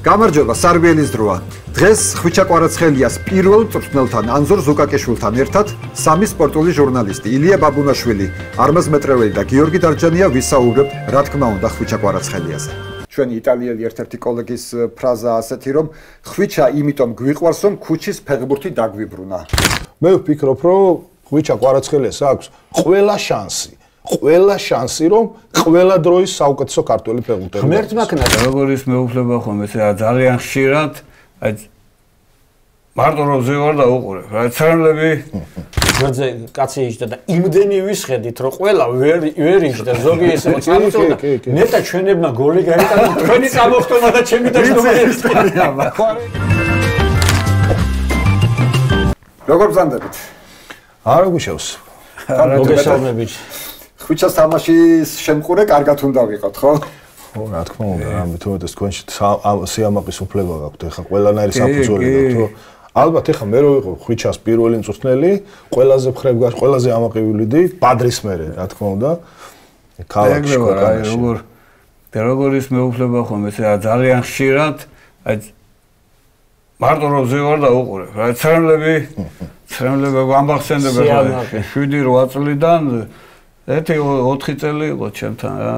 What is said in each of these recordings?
გამარჯობა, სარბიელის დროა. დღეს ხვიჩა კვარაცხელიას პირველ მწვრთნელთან ანზორ ზუკაკეშვილთან ერთად სამი სპორტული ჟურნალისტი ილია ბაბუნაშვილი, არმაზ მეტრეველი და გიორგი დარჯანია ვისაუბრებთ, რა თქმა უნდა, ხვიჩა კვარაცხელიაზე. ჩვენი იტალიელი ერთ-ერთი კოლეგის ფრაზა ასეთი, რომ ხვიჩა იმიტომ გვიყვარს, რომ ქუჩის ფეხბურთი დაგვიბრუნა. მე ვფიქრობ, რომ ხვიჩა კვარაცხელიას აქვს ყველა შანსი, რომ ყველა დროის საუკეთესო ქართველი ფეხბურთელი. ღმერთს მაქნას როგორის მეუფლება ხომ ეს ძალიან ხშირად აი მარტო როზე ვარ და უყურებ. რა ცრემლები გვერდზე კაცი იჯდა და იმდენი ვისხედით, რომ ყველა ვერ იჯდა, ზოგი ესე მოწამწოდა. ნეტა ჩვენებმა გოლი გაიტანა, თქვენი წამოხტომა და ჩემი დაშტომა ერთია. როგორ ბრძანდებით? არა გუშავს. მოგესალმებით. ხვიჩას თამაშის შემყურე კარგად უნდა ვიყოთ, ხო? ხო, რა თქმა უნდა, რამე თუმცა თქვენში სიამაყის უფლება გაქვთ, ეხა ყველანაირი საფუძველი გაქვთ, რომ ალბათ ეხა მე რო ვიყო ხვიჩას პირველი მწვრთნელი, ყველაზე მხრებ გას, ყველაზე ამაყივილიდი ბადრის მერე, რა თქმა უნდა. ქალაქში როგორის მეუფლება ხომ ესე ძალიან ხშირად, აი მარტო როზე ვარ და უყურებ. რა ცრემლები გამახსენდება 7-8 წლიდან 1-4 წელი იყო ჩემთან რა.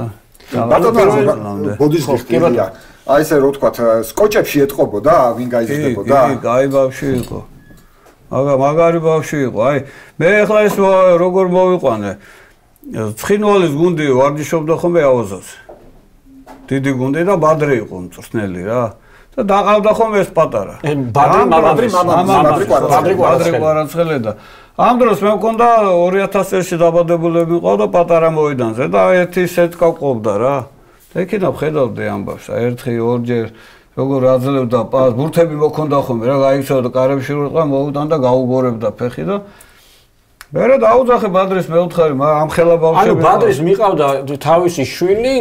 ბოდიშ გიხდია. აი ესე რო თქვა, სკოჭებში ეთყობოდა, ვინ გაიზრდებოდა? აი ბავშვი იყო. მაგარი ბავშვი იყო. აი მე ახლა ეს როგორ მოვიყვანე. ცხინვალის გუნდი ვარჯიშობდა ხოლმე აუზაზე. დიდი გუნდი და ბადრი იყო მწვრთნელი რა. და დაყავდა ხოლმე ეს პატარა. ბადრი კვარაცხელი და ამ დროს მე მქონდა 2000 წელში დაბადებულები მყავდა პატარა მოედანზე და ერთი სეტკა ყოფდა რა. ეკინა ხედავდი ამბავს, ერთხი ორჯერ როგორ აძლევდა პას, ბურთები მოქონდა ხოლმე რა, გაიქცეოდა კარებში როყა მოუდან და გაუგორებდა ფეხი და მერე დაუძახე ბადრის მეუთხარი, ამ ხელა ბავშვები. ანუ ბადრის მიყავდა თავისი შვილი,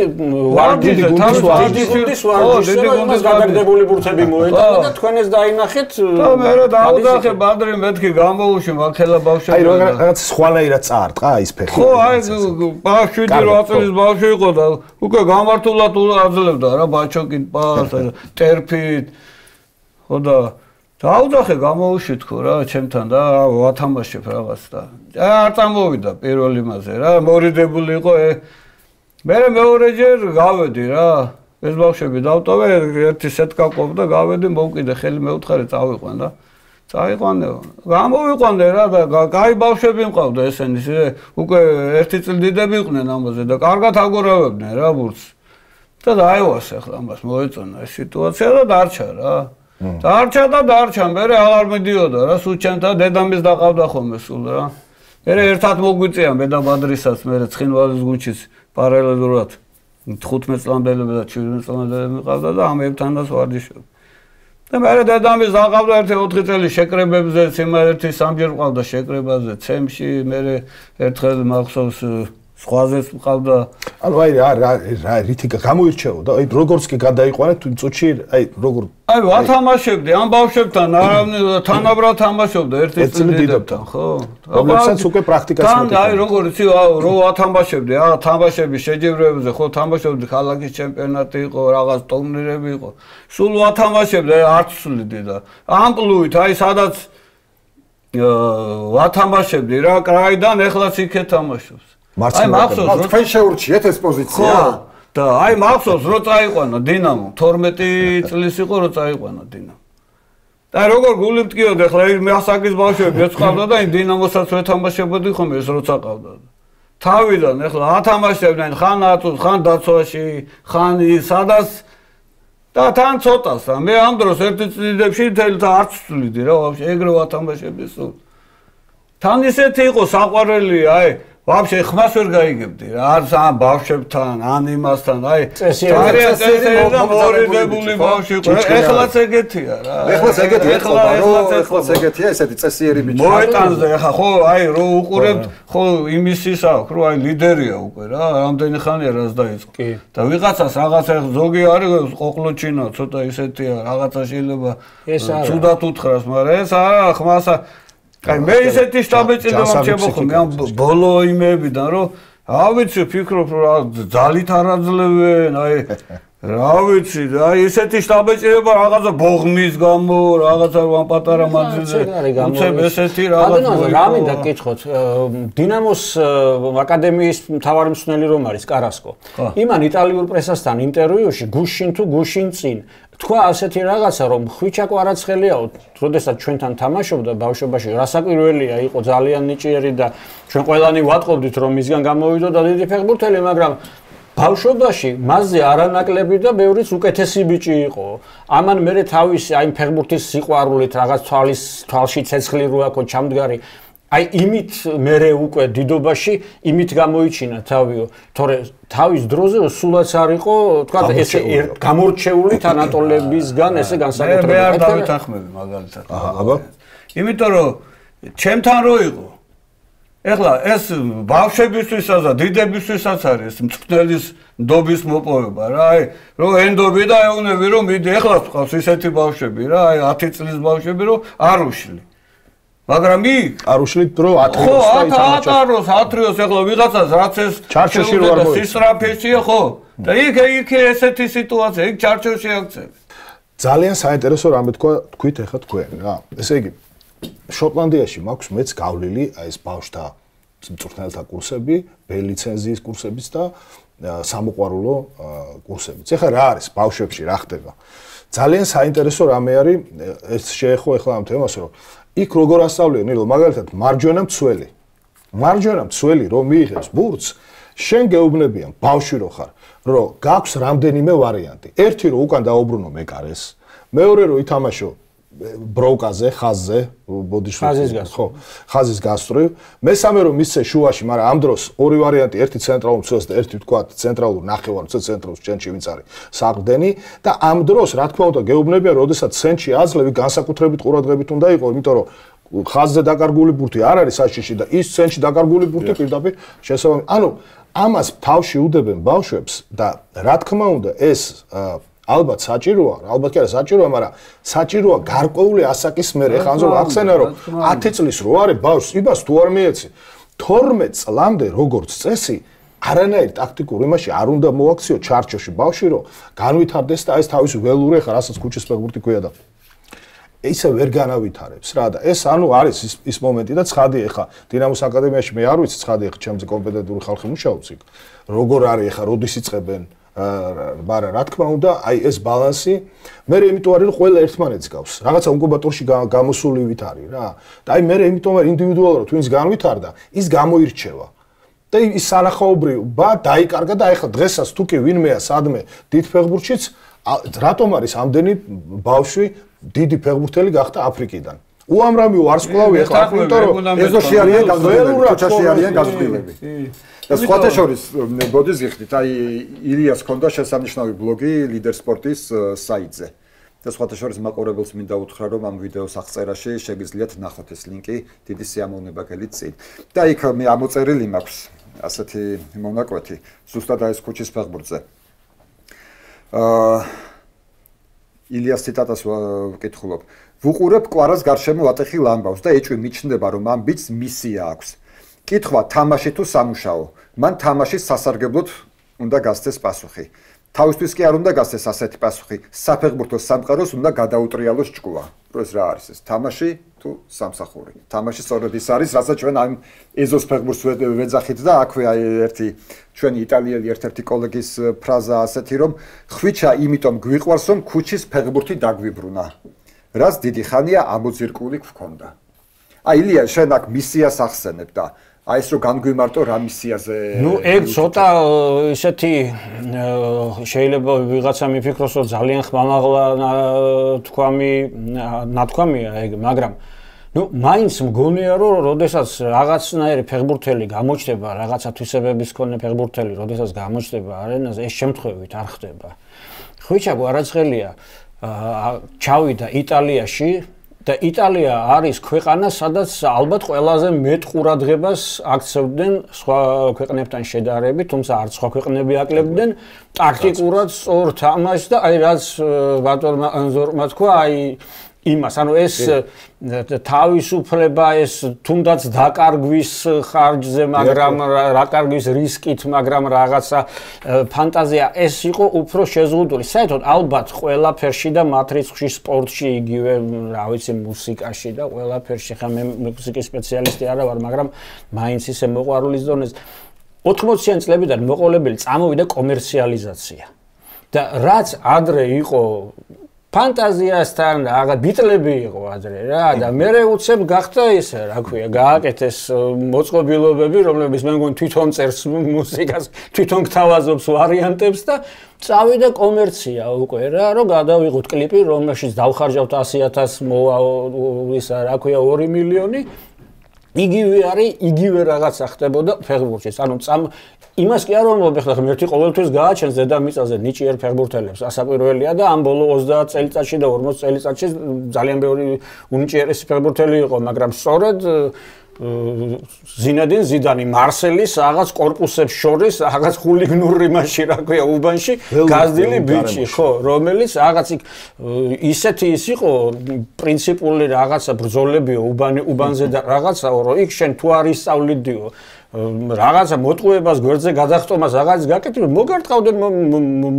დიდი გუნდის ვარჯიშს გადაგდებული ბურთები მოეტანა და თქვენ ეს დაინახეთ. და მერე დაუძახე ბადრი მეთქი გამოუში მაქელა ბავშვები. აი რაღაც სხვანაირად წაარტყა ის ფეხი. ხო, აი 7-8 წლის ბავშვი იყო და უკვე გამართულად აძლევდა რა ბაჩოკით პას, ტერფით. ხო და დაუძახე გამოუში თქო რა ჩემთან და ვათამაშებ რაღაც და არ წამოვიდა პირველ იმაზე რა მორიდებული იყო მე მეორეჯერ გავედი რა ეს ბავშვები დავტოვე ერთი სეტკა ყოფდა გავედი მოვკიდე ხელი მეუთხარი წავიყვან და წაიყვანე გამოვიყვანე რა და კაი ბავშვები მყავდა ესენი უკვე 1 წელი დიდები იყვნენ ამაზე და კარგად აგორავებდნენ რა ბურთს და დაევასე ახლა ამას მოეწონა ეს სიტუაცია და დარჩა რა დარჩა, მერე აღარ მიდიოდა რა, სულ ჩემთან დედამის დაყავდა ხოლმე სულ რა. მერე ერთად მოგვიწია მე და ბადრისაც, მერე ცხინვალის გუნდშიც პარალელურად 15 წლამდელები და 17 წლამდელები მიყავდა და ამებთანაც ვარჯიშობ. და მერე დედამის დაყავდა 1-4 წელი შეკრებებზე, ერთი სამჯერ მყავდა შეკრებაზე, ცემში, მერე ერთხელ მახსოვს სხვაზეც მყავდა. ანუ აი რა რითი გამოირჩეოდა, აი როგორც კი გადაიყვანეთ თუ წუთში, აი როგორ აი ვათამაშებდი ამ ბავშვებთან, თანაბრად თამაშობდა ერთი წელი დიდებთან, ხო? რომლებსაც უკვე პრაქტიკაც მოდი. აი როგორ იცი, რო ვათამაშებდი, თამაშების შეჯიბრებებზე, ხო, თამაშობდი ქალაქის ჩემპიონატი იყო, რაღაც ტურნირები იყო. სულ ვათამაშებდი, არც სულიდი და ამპლუით, აი სადაც ვათამაშებდი რა, კრაიდან ეხლაც იქე თამაშობს. აი მახსოვს თქვენ შეურჩიეთ ეს პოზიცია და აი მახსოვს რო წაიყვანა დინამო 12 წლის იყო რო წაიყვანა დინამო და როგორ გული მტკიოდა ხლა მე ასაკის ბავშვები ეწყავდა და იმ დინამოსაც ვეთამაშებოდი ხოლმე ეს როცა ყავდა თავიდან ეხლა ათამაშებდნენ ხან აწუს ხან დაცვაში ხან სადაც და თან ცოტას მე ამ დროს ერთი წლიდებში თელთა არც ვწვლიდი რა ვაფშე ეგრე ვათამაშებდი სულ თან ისეთი იყო საყვარელი აი ვაფშე ხმას ვერ გაიგებდი რა არც ამ ბავშვებთან ან იმასთან აი წესიერი და მორიდებული ბავშვი იყო ეხლაც ეგეთია რა ეხლაც ეგეთია ესეთი წესიერი ბიჭი მოეტანზე ხა ხო აი რო უყურებთ ხო იმისის აქვს რო აი ლიდერია უკვე რა რამდენი ხანია რაც დაიწყო და ვიღაცას რაღაცა ზოგი არის ყოყლოჩინა ცოტა ისეთია რაღაცა შეიძლება ცუდად უთხრას მაგრამ ეს არა ხმასა აი მე ისეთი შტაბეჭილი მომჩებო ხოლმე ამ ბოლო იმებიდან რომ ავიცი ფიქრობ რომ ძალით არ აძლევენ აი რა ვიცი, აი ესეთი შტაბეჭირება რაღაცა ბოღმის გამო, რაღაცა ვან პატარა მანძილზე. უცებ ესეთი რაღაც მოიგო. რა მინდა გკითხოთ, დინამოს აკადემიის მთავარი მსმენელი რომ არის კარასკო. იმან იტალიურ პრესასთან ინტერვიუში გუშინ თუ გუშინ წინ თქვა ასეთი რაღაცა რომ ხვიჩა კვარაცხელიაო, როდესაც ჩვენთან თამაშობდა ბავშვობაში, რასაკვირველია, იყო ძალიან ნიჭიერი და ჩვენ ყველანი ვატყობდით რომ მისგან გამოვიდოდა დიდი ფეხბურთელი, მაგრამ ბავშვობაში მასზე არანაკლები და ბევრიც უკეთესი ბიჭი იყო. ამან მერე თავისი აი ფეხბურთის სიყვარულით რაღაც თვალში ცეცხლი რო აქო ჩამდგარი აი იმით მერე უკვე დიდობაში იმით გამოიჩინა თავიო, თორე თავის დროზე სულაც არ იყო, თქვა ესე გამორჩეული თანატოლებისგან ესე განსაკუთრებით. მე არ დავითანხმები მაგალითად. აბა. იმიტომ რომ ჩემთან რო იყო ეხლა ეს ბავშვებისთვისაც და დიდებისთვისაც არის მწვრთნელის ნდობის მოპოვება რა, აი რო ენდობი და ეუნები რომ მიდი ეხლა ვყავს ისეთი ბავშვები რა, აი 10 წლის ბავშვები რომ არ უშლი. მაგრამ არ უშლით დრო 10 ხო, 10 ათრიოს ეხლა ვიღაცას რაც ეს ჩარჩოში რო არ მოიწ. სისტრაფეშია ხო? და იქ ესეთი სიტუაცია, იქ ჩარჩოში აქცევი. ძალიან საინტერესო რამე თქვით ეხლა თქვენ რა. ესე იგი შოტლანდიაში მაქვს მეც გავლილი აი ეს ბავშვთა მწვრთნელთა კურსები, B ლიცენზიის კურსებიც და სამოყვარულო კურსებიც. ეხლა რა არის ბავშვებში რა ხდება? ძალიან საინტერესო რამე არის ეს შეეხო ეხლა ამ თემას რომ იქ როგორ ასწავლიან ნილო მაგალითად მარჯვენა მცველი რომ მიიღებს ბურთს შენ გეუბნებიან ბავშვი რო ხარ რომ გაქვს რამდენიმე ვარიანტი. ერთი რომ უკან დაუბრუნო მეკარეს, მეორე რომ ითამაშო ბროკაზე, ხაზზე, ბოდიშვილი, ხო, ხაზის გასწრივ. მესამე რომ მისცე შუაში, მაგრამ ამ დროს ორი ვარიანტი, ერთი ცენტრალურ მცველს და ერთი თქვა ცენტრალურ ნახევარ მცველ ცენტრალურ ჩენჩი ვინც არის საყრდენი და ამ დროს რა თქმა უნდა გეუბნებიან, როდესაც ცენტრში აძლევი განსაკუთრებით ყურადღებით უნდა იყო, იმიტომ რომ ხაზზე დაკარგული ბურთი არ არის საშიში და ის ცენტრში დაკარგული ბურთი პირდაპირ შესაბამისად. ანუ ამას თავში უდებენ ბავშვებს და რა თქმა უნდა ეს ალბათ საჭიროა, ალბათ კი არა საჭიროა, მაგრამ საჭიროა გარკვეული ასაკის მერე. ეხლა ამზო ახსენა რომ 10 წლის რო არის ბავშვს, იმას თუ არ მიეცი 12 წლამდე როგორც წესი არანაირ ტაქტიკურ იმაში არ უნდა მოაქციო ჩარჩოში ბავშვი რომ განვითარდეს და ეს თავისი ველური ეხლა რასაც ქუჩის ფეხბურთი ქვია და ისე ვერ განავითარებს რა და ეს ანუ არის ის მომენტი და ცხადი ეხლა დინამოს აკადემიაში მე არ ვიცი ცხადი ეხლა ჩემზე კომპეტენტური ხალხი მუშაობს იქ როგორ არის ეხლა როდის იწყებენ მაგრამ რა თქმა უნდა აი ეს ბალანსი მე იმიტომ არის რომ ყველა ერთმანეთს გავს რაღაცა ინკუბატორში გამოსულივით არის რა და აი მე იმიტომ რომ ინდივიდუალურად ვინც განვითარდა ის გამოირჩევა და ის სანახაობრივობა დაიკარგა და ეხლა დღესაც თუ კი ვინმეა სადმე დიდ ფეხბურთშიც რატომ არის ამდენი ბავშვი დიდი ფეხბურთელი გახდა აფრიკიდან უამრავი ვარსკვლავი ეხლა იმიტომ რომ ეზოში არიან გაზრდილები ჩოჩაში არიან გაზრდილები და სხვათა შორის ბოდის გიხდით აი ილიას ქონდა შესანიშნავი ბლოგი ლიდერ სპორტის საიტზე და სხვათა შორის მაყურებელს მინდა უთხრა რომ ამ ვიდეოს აღწერაში შეგიძლიათ ნახოთ ეს ლინკი დიდი სიამოვნება გელით წინ და იქ მე ამოწერილი მაქვს ასეთი მონაკვეთი ზუსტად ეს ქუჩის ფეხბურთზე ილიას ციტატას ვკითხულობ ვუყურებ კვარას გარშემო ატეხილ ამბავს და ეჭვი მიჩნდება რომ ამ ბიჭს მისია აქვს კითხვა თამაში თუ სამუშაო მან თამაშის სასარგებლოდ უნდა გასცეს პასუხი თავისთვის კი არ უნდა გასცეს ასეთი პასუხი საფეხბურთო სამყაროს უნდა გადაუტრიალოს ჭკუა რომ ეს რა არის ეს თამაში თუ სამსახური თამაში სწორედ ის არის რასაც ჩვენ ამ ეზოს ფეხბურთს ვეძახით და აქვე აი ერთი ჩვენი იტალიელი ერთ-ერთი კოლეგის ფრაზა ასეთი რომ ხვიჩა იმიტომ გვიყვარს რომ ქუჩის ფეხბურთი დაგვიბრუნა რაც დიდი ხანია ამოძირკული გვქონდა აი ილია შენ აქ მისიას ახსენებ და აი ეს რო განგვიმარტო რა მისიაზე ნუ ეგ ცოტა ისეთი შეიძლება ვიღაცა მიფიქროს რომ ძალიან ხმამაღლა ნათქვამია ეგ მაგრამ ნუ მაინც მგონია რომ როდესაც რაღაცნაირი ფეხბურთელი გამოჩნდება რაღაცა თვისებების მქონე ფეხბურთელი როდესაც გამოჩნდება არენაზე ეს შემთხვევით არ ხდება ხვიჩა კვარაცხელია ჩავიდა იტალიაში და იტალია არის ქვეყანა, სადაც ალბათ ყველაზე მეტ ყურადღებას აქცევდნენ სხვა ქვეყნებთან შედარებით, თუმცა არც სხვა ქვეყნები აკლებდნენ ტაქტიკურად სწორ თამაშს და აი რაც ბატონმა ანზორმა თქვა, აი იმას, ანუ ეს თავისუფლება, ეს თუნდაც დაკარგვის ხარჯზე, მაგრამ დაკარგვის რისკით, მაგრამ რაღაცა ფანტაზია, ეს იყო უფრო შეზღუდული. საერთოდ ალბათ ყველაფერში და მათ რიცხვში სპორტში იგივე, რა ვიცი, მუსიკაში და ყველაფერში, ხა მე მუსიკის სპეციალისტი არა ვარ, მაგრამ მაინც ისე მოყვარულის დონეზე 80-იან წლებიდან მოყოლებელი წამოვიდა კომერციალიზაცია. და რაც ადრე იყო ფანტაზიასთან რაღაც ბიტლები იყო ადრე რა და მე უცებ გახდა ესე რა ქვია გააკეთეს მოწყობილობები რომლებიც მე მგონი თვითონ წერს მუსიკას თვითონ გთავაზობს ვარიანტებს და წავიდა კომერცია უკვე რა რომ გადავიღოთ კლიპი რომელშიც დავხარჯავთ 100.000 მოვა ისა რა ქვია 2 მილიონი იგივე არის იგივე რაღაცა ხდებოდა ფეხბურთში ანუ იმას კი არ ვამბობ ახლა ღმერთი ყოველთვის გააჩენს დედამიწაზე ნიჭიერ ფეხბურთელებს ასაკვირველია და ამ ბოლო 30 წელიწადში და 40 წელიწადში ძალიან ბევრი უნიჭიერესი ფეხბურთელი იყო მაგრამ სწორედ ზინედინ ზიდანი მარსელის რაღაც კორპუსებს შორის რაღაც ხულიგნური მასში რა ქვია უბანში გაზდილი ბიჭი ხო რომელიც რაღაც ისეთი ის იყო პრინციპული რაღაცა ბრძოლებიო უბანზე და რაღაცაო რომ იქ შენ თუ არ ისწავლიდიო რაღაცა მოტყუებას გვერდზე გადახტომას რაღაც გაკეთებ მოგარტყავდნენ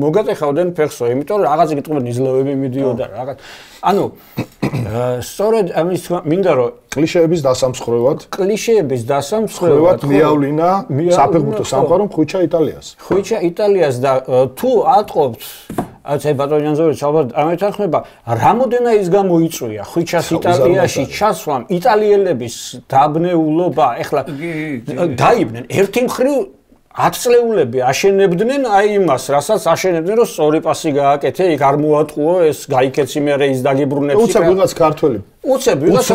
მოგატეხავდნენ ფეხსო იმიტომ რომ რაღაც კითხულობენ იზლავები მიდიოდა რაღაც ანუ სწორედ ამის მინდა რომ კლიშეების დასამსხვრევად მიავლინა საფეხბურთო სამყარო ხვიჩა იტალიას და თუ ატყობთ აი ბატონიან ზორი ალბათ ამეთანხმება რამოდენა ის გამოიწვია ხვიჩას იტალიაში ჩასვლამ იტალიელების დაბნეულობა ეხლა დაიბნენ ერთი მხრივ 10 წლეულები აშენებდნენ აი იმას რასაც აშენებდნენ რომ სწორი პასი გააკეთე იქ არ მოატყუო ეს გაიქეცი მე ის დაგიბრუნებს უცებ ვიღაც ქართველი უცებ ვიღაც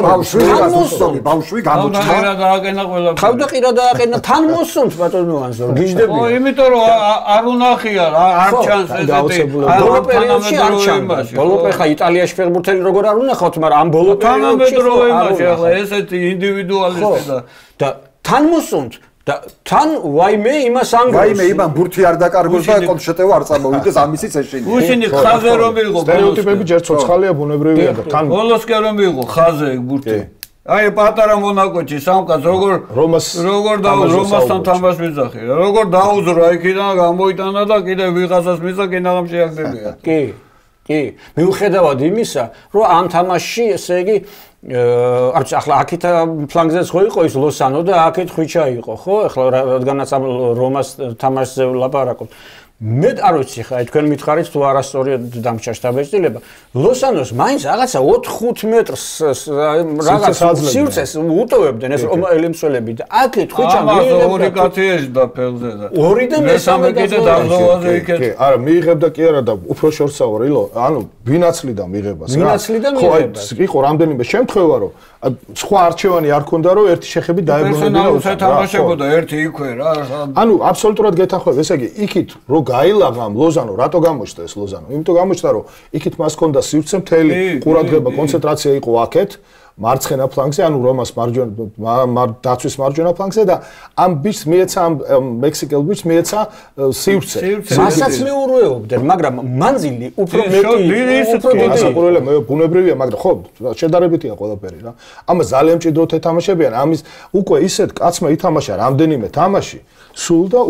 ბავშვი გამოჩნდა დააყენა ყველა თავდაყირა დააყენა თან მოსუნთ ბატონო ანზო გიждები ო იმიტომ რომ არ უნახია არ ჩანს ესეთი ბოლო პერიოდში არ ჩანდა ბოლო ხა იტალიაში ფეხბურთელი როგორ არ უნახავთ მაგრამ ამ ბოლო პერიოდში ახლა ესეთი ინდივიდუალისტი და თან მოსუნთ და თან ვაიმე იმას ანგრევს ვაიმე იმან ბურთი არ დაკარგოს და კონშეტევა არ წამოვიდეს ამისიც ეშინია უშინი ხაზე რომ იყო სტერეოტიპები ჯერ ცოცხალია ბუნებრივია და თან ბოლოს კი რომ იყო ხაზე ბურთი აი პატარა მონაკოჩი სამკაც როგორ რომასთან თამაშ მიზახი როგორ დაუძრა იქიდან გამოიტანა და კიდე ვიღაცას მიზა კინაღამ შეაგდებია კი მიუხედავად იმისა რომ ამ თამაშში ესე იგი არც ახლა აქეთ ფლანგზეც ხო იყო ის ლოსანო და აქეთ ხვიჩა იყო ხო ახლა რადგანაც ამ რომას თამაშზე ვლაპარაკობთ მე არ ვიცი ხა თქვენ მითხარით თუ არასწორია დამჭა შტაბეჭდილება ლოსანოს მაინც რაღაცა 4-5 მეტრს რაღაც სივრცეს უტოვებდნენ ეს ელემსველები და აქეთ ხვიჩა ორი კაცი ეშდა ფეხზე და ორი და მესამე კიდე დაღლოვაზე იქეთ არა მიიღებდა კი არა და უფრო შორსაო რილო ანუ ვინაცლიდა მიიღებას რა ხო აი იყო რამდენიმე შემთხვევა რომ სხვა არჩევანი არ ქონდა რომ ერთი შეხები დაებრუნებინა უსათამაშებოდა ერთი იქვე რა ანუ აბსოლუტურად გეთანხმები ესე იგი იქით რო გაილაღა ლოზანო რატო გამოჩნდა ეს ლოზანო იმიტომ გამოჩნდა რომ იქით მას ჰქონდა სივრცე მთელი ყურადღება კონცენტრაცია იყო აქეთ მარცხენა ფლანგზე ანუ რომას მარჯვენა დაცვის მარჯვენა ფლანგზე და ამ ბიჭს მიეცა ამ მექსიკელ ბიჭს მიეცა სივრცე მასაც მეურვეობდნენ მაგრამ მანძილი უფრო მეტი ასაკურველია მე ბუნებრივია მაგრამ ხო შედარებითია ყველაფერი რა ამას ძალიან მჭიდროდ ეთამაშებიან ამის უკვე ისეთ კაცმა ითამაშა რამდენიმე თამაში სულ და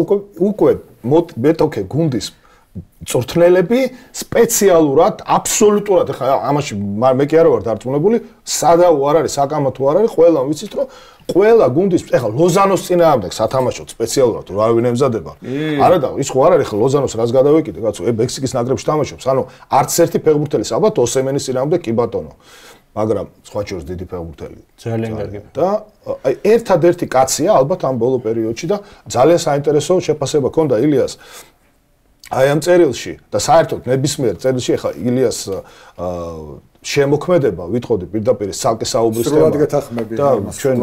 უკვე მეტოქე გუნდის წვრთნელები სპეციალურად აბსოლუტურად ხა ამაში მე კი არა ვარ დარწმუნებული სადაო არ არის საკამო თუ არ არის ყველა ვიცით რომ ყველა გუნდის ეხლა ლოზანოს წინააღმდეგ სათამაშოდ სპეციალურად რა ვინ ემზადება არა და ის ხო არ არის ხა ლოზანოს რას გადავეკიდე კაცო მექსიკის ნაკრებში თამაშობს ანუ არც ერთი ფეხბურთელი საბათ ოსემენის წინააღმდეგ კი ბატონო მაგრამ სხვა შორის დიდი ფეხბურთელი ძალიან კარგი და აი ერთადერთი კაცია ალბათ ამ ბოლო პერიოდში და ძალიან საინტერესო შეფასება ჰქონდა ილიას აი ამ წერილში და საერთოდ ნებისმიერ წერილში ახლა ილიას შემოქმედება ვითხოვდი პირდაპირ სალკე საუბრის თემა სრულად გეთანხმები და ჩვენ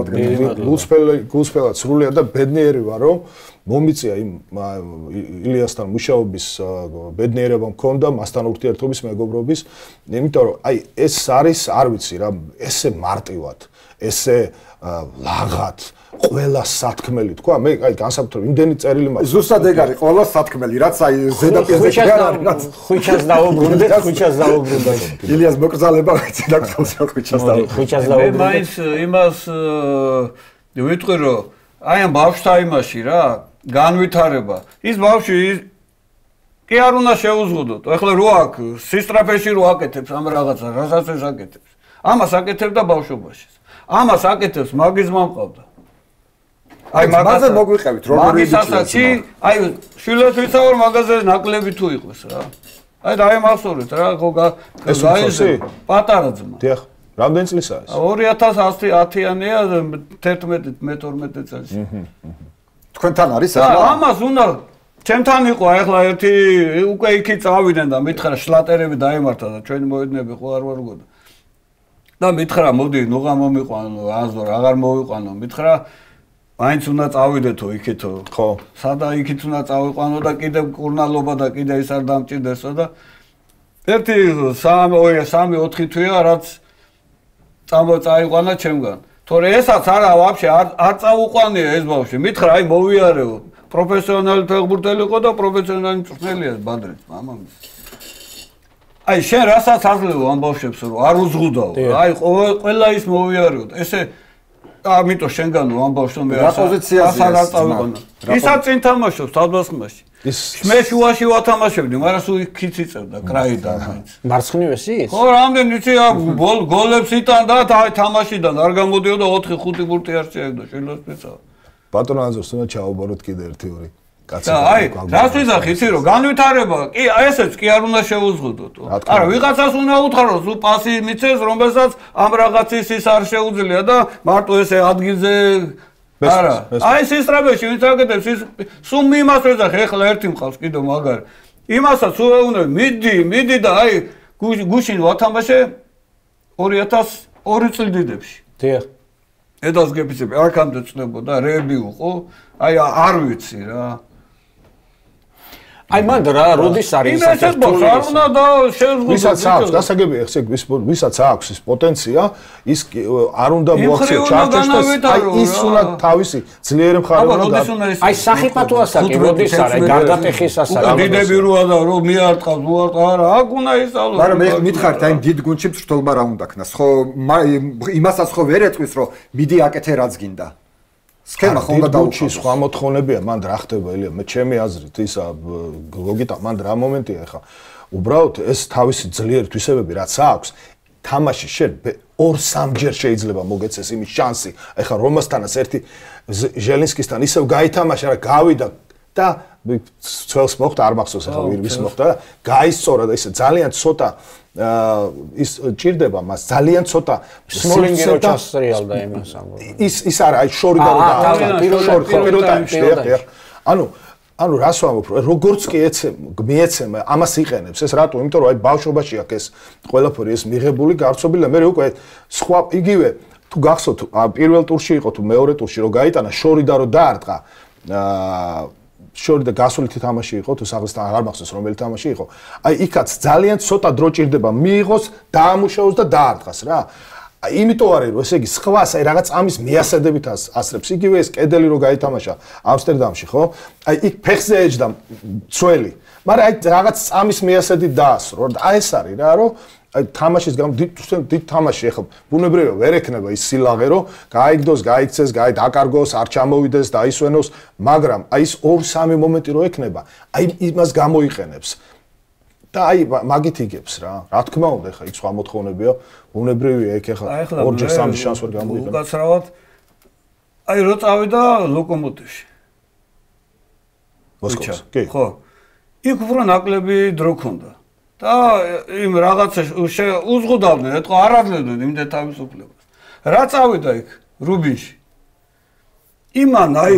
გულსფერად სრულიად და ბედნიერი ვარ რომ მომიწია იმ ილიასთან მუშაობის ბედნიერება მქონდა მასთან ურთიერთობის მეგობრობის იმიტომ რომ აი ეს არის არ ვიცი რა ესე მარტივად ესე ლაღად ყველა სათქმელი თქვა, მე აი განსაკუთრებით იმდენი წერილი მაქვს. ზუსტად ეგ არის, ყველა სათქმელი, რაც აი ზედაპირზე კი არ არის, რაც ხვიჩას დაუბრუნდეთ, ხვიჩას დაუბრუნდეთ. ილიას მოკრძალება ძინაკეთოს ხვიჩას დაუბრუნდეთ. ხვიჩას მე დაუბრუნდეთ. მაინც იმას ვიტყვი რომ აი ამ ბავშვთა იმაში რა, განვითარება. ის ბავშვი კი არ უნდა შეუზღუდოთ. ეხლა რო აქ სისტრაფეში რო აკეთებს ამ რაღაცას, რასაც ეს აკეთებს. ამას აკეთებდა ბავშვობაში. ამას აკეთებს მაგის მამყავდა. აი მაგაზე მოგვიყევით როგორი ისაცი, აი შვილებს ვიცავარ მაგაზე ნაკლები თუ იყოს რა. აი დაე მახსოვრეთ რა, ხო გაიზე პატარა ძმა. დიახ, რამდენი წლისაა ეს? 2010-იანია 11 მე 12 წელს. თქვენთან არის ახლა? ამას უნდა ჩემთან იყო ახლა ერთი უკვე იქი წავიდნენ და მითხრა შლატერები დაემართა და ჩვენი მოედნები ხო არ ვარ გქონდა. და მითხრა მოდი ნუღა მომიყვანო, აზორ აღარ მოვიყვანო, მითხრა მაინც უნდა წავიდეთო იქითო. ხო. სადა იქით უნდა წავიყვანო და კიდევ კურნალობა და კიდე ის არ დამჭირდესო და ერთი 3-4 თვეა რაც წაიყვანა ჩემგან. თორე ესაც არა ვაფშე არ წაუყვანია ეს ბავშვი. მითხრა აი მოვიარეო. პროფესიონალი ფეხბურთელი იყო და პროფესიონალი მწვრთნელია ბადრიც მამამის. აი შენ რასაც აძლევო ამ ბავშვებს რომ არ უზღუდაო. აი ყველა ის მოვიარეო. ესე ამიტომ შენგანო ამ ბავშვს მე რა პოზიციაზე არ წავიყვანა. ისაც წინ თამაშობს თავდასხმაში. მე შუაში ვათამაშებდი, მაგრამ სულ იქით იწევდა კრაიდან მაინც. მარცხნივეს ის? ხო, რამდენი იცი გოლებს იტანდა და აი თამაშიდან არ გამოდიოდა 4-5 ბურთი არ შეედა შვილებს მეცავა. ბატონო აზორს უნდა ჩაუბაროთ კიდე 1-2 კაცი. აი, რას ვიზახი იცი რომ განვითარება, კი ესეც კი არ უნდა შეუზღუდოთ. არა, ვიღაცას უნდა უთხროს, სულ პასი მიცეს, რომელსაც ამ რაღაცის ის არ შეუძლია და მარტო ესე ადგილზე არა. აი სისტრაფეში ვინც აკეთებს ის სულ მიმას ვეძახი, ეხლა ერთი მყავს კიდევ მაგარი. იმასაც სულ უნდა მიდი და აი გუშინ ვათამაშე 2002 წლიდებში. დიახ. ედას გეფიცები აქამდე წნებოდა რეები უყო, აი არ ვიცი რა. აი მანდ რა როდის არის ეს ბავშვი არ უნდა და შეზღუდოს. ვისაც აქვს გასაგებია ესე ვისაც აქვს ის პოტენცია, ის არ უნდა მოაქციო ჩარჩოს და აი ის უნდა თავისი ძლიერი მხარე უნდა აი სახიფათო ასაკი როდის არის გარდატეხის ასაკი. დიდები როა და რომ მიარტყავს არა აქ უნდა ისწავლოს. მაგრამ მე მითხარით აი დიდ გუნდში მწვრთნელობა რა უნდა ქნას ხო იმასაც ხო ვერ ეტყვის რომ მიდი აკეთე რაც გინდა. სქემა ხო უნდა დაუჩი სხვა მოთხოვნებია მან რა ხდება ელია მე ჩემი აზრით ისა ლოგიკა მან რა მომენტია ახლა უბრალოდ ეს თავისი ძლიერი თვისებები რაც აქვს თამაში შენ 2-3 ჯერ შეიძლება მოგეცეს იმის შანსი ახლა რომასთანაც ერთი ჟელინსკისთან ისევ გაითამაშა რა გავიდა და ცველს მოხდა არ მახსოვს ახლა ვის მოხდა და გაისწორა და ისე ძალიან ცოტა ის ჭირდება მას ძალიან ცოტა სმოლინგი რო ჩასრიალდა იმას ამბობ. ის არა აი შორი და პირველ ტაიმში ანუ რას ვამბობ როგორც კი მიეცემა ამას იყენებს ეს რატო იმიტომ რომ აი ბავშვობაში აქ ეს ყველაფერი ეს მიღებული გავრცობილი და მე უკვე სხვა იგივე თუ გახსოვთ პირველ ტურში იყო თუ მეორე ტურში რო გაიტანა შორი და რო დაარტყა შორი და გასულითი თამაში იყო თუ საღლისთან აღარ მახსოვს რომელი თამაში იყო აი იქაც ძალიან ცოტა დრო ჭირდება მიიღოს დაამუშავოს და დაარტყას რა იმიტომ არის რომ ესე იგი სხვას აი რაღაც ამის მიასადებით ასრებს იგივე ეს კედელი რო გაითამაშა ამსტერდამში ხო აი იქ ფეხზე ეჯდა ცველი მაგრამ აი რაღაც ამის მიასადით დაასრო აი ეს არის რა რომ აი თამაშის გამ დიდ თამაში ახლა ბუნებრივია ვერ ექნება ის სილაღე რომ გაიგდოს, გაიქცეს, დაკარგოს, არ ჩამოვიდეს, დაისვენოს, მაგრამ აი ის 2-3 მომენტი რო ექნება, აი იმას გამოიყენებს. და აი მაგით იგებს რა. რა თქმა უნდა, ახლა იქ სხვა მოთხოვნებია, ბუნებრივია იქ ახლა 2-ჯერ 3 შანსს ვერ გამოიყენებს. უკაცრავად აი რო წავიდა ლოკომოტივში. მოსკოვში. კი. ხო. იქ უფრო ნაკლები დრო ქონდა. და იმ რაღაცა უზღუდავდნენ, ეთქო არ აძლევდნენ იმდენ თავისუფლებას. რა წავიდა იქ რუბინში. იმან აი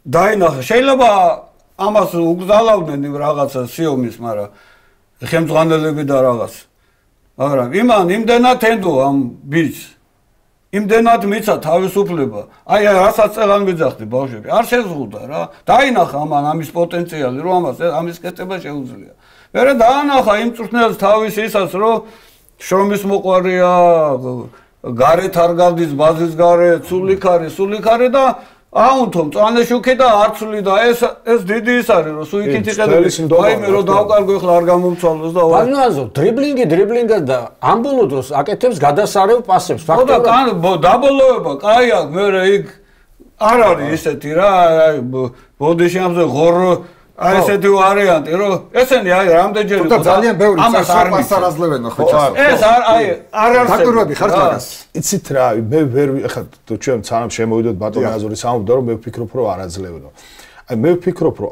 დაინახა, შეიძლება ამას უგზალავდნენ იმ რაღაცა სიომის, მაგრამ ხელმძღვანელები და რაღაც. მაგრამ იმან იმდენად ენდო ამ ბიჭს. იმდენად მიცა თავისუფლება. აი რასაც წელან მიძახდი ბავშვები, არ შეზღუდა რა. დაინახა ამან ამის პოტენციალი, რომ ამის კეთება შეუძლია. მერე დაანახა იმ მწვრთნელს თავის ისას რომ შრომის მოყვარია გარეთ არ გავდის ბაზის გარეთ, სულიქარი და აუნთო მწვანეშუქი და არცვლი და ეს დიდი ის არის რომ სულ იქით იყედები. აი მე რომ დავკარგო ახლა არ გამომცვალოს და ბანაზო დრიბლინგი და ამბოლო დროს აკეთებს გადასარევ პასებს ფაქტობრივად. ხო და დაბოლოება კაი აქვს მე იქ არ არის ისეთი რა აი ბოდიში ამზე ღორო აი ესეთი ვარიანტი რომ ესენი აი რამდენჯერ იყო ძალიან ბევრი პასარაზლებენ ხო ჩასო ეს არ არის დაკურვები ხარ მაგას იცით რა მე ვერ ახლა ჩვენ სანამ შემოვიდოთ ბატონ აზური სამუბდა რომ მე ვფიქრობ რომ არაძლევენო აი მე ვფიქრობ რომ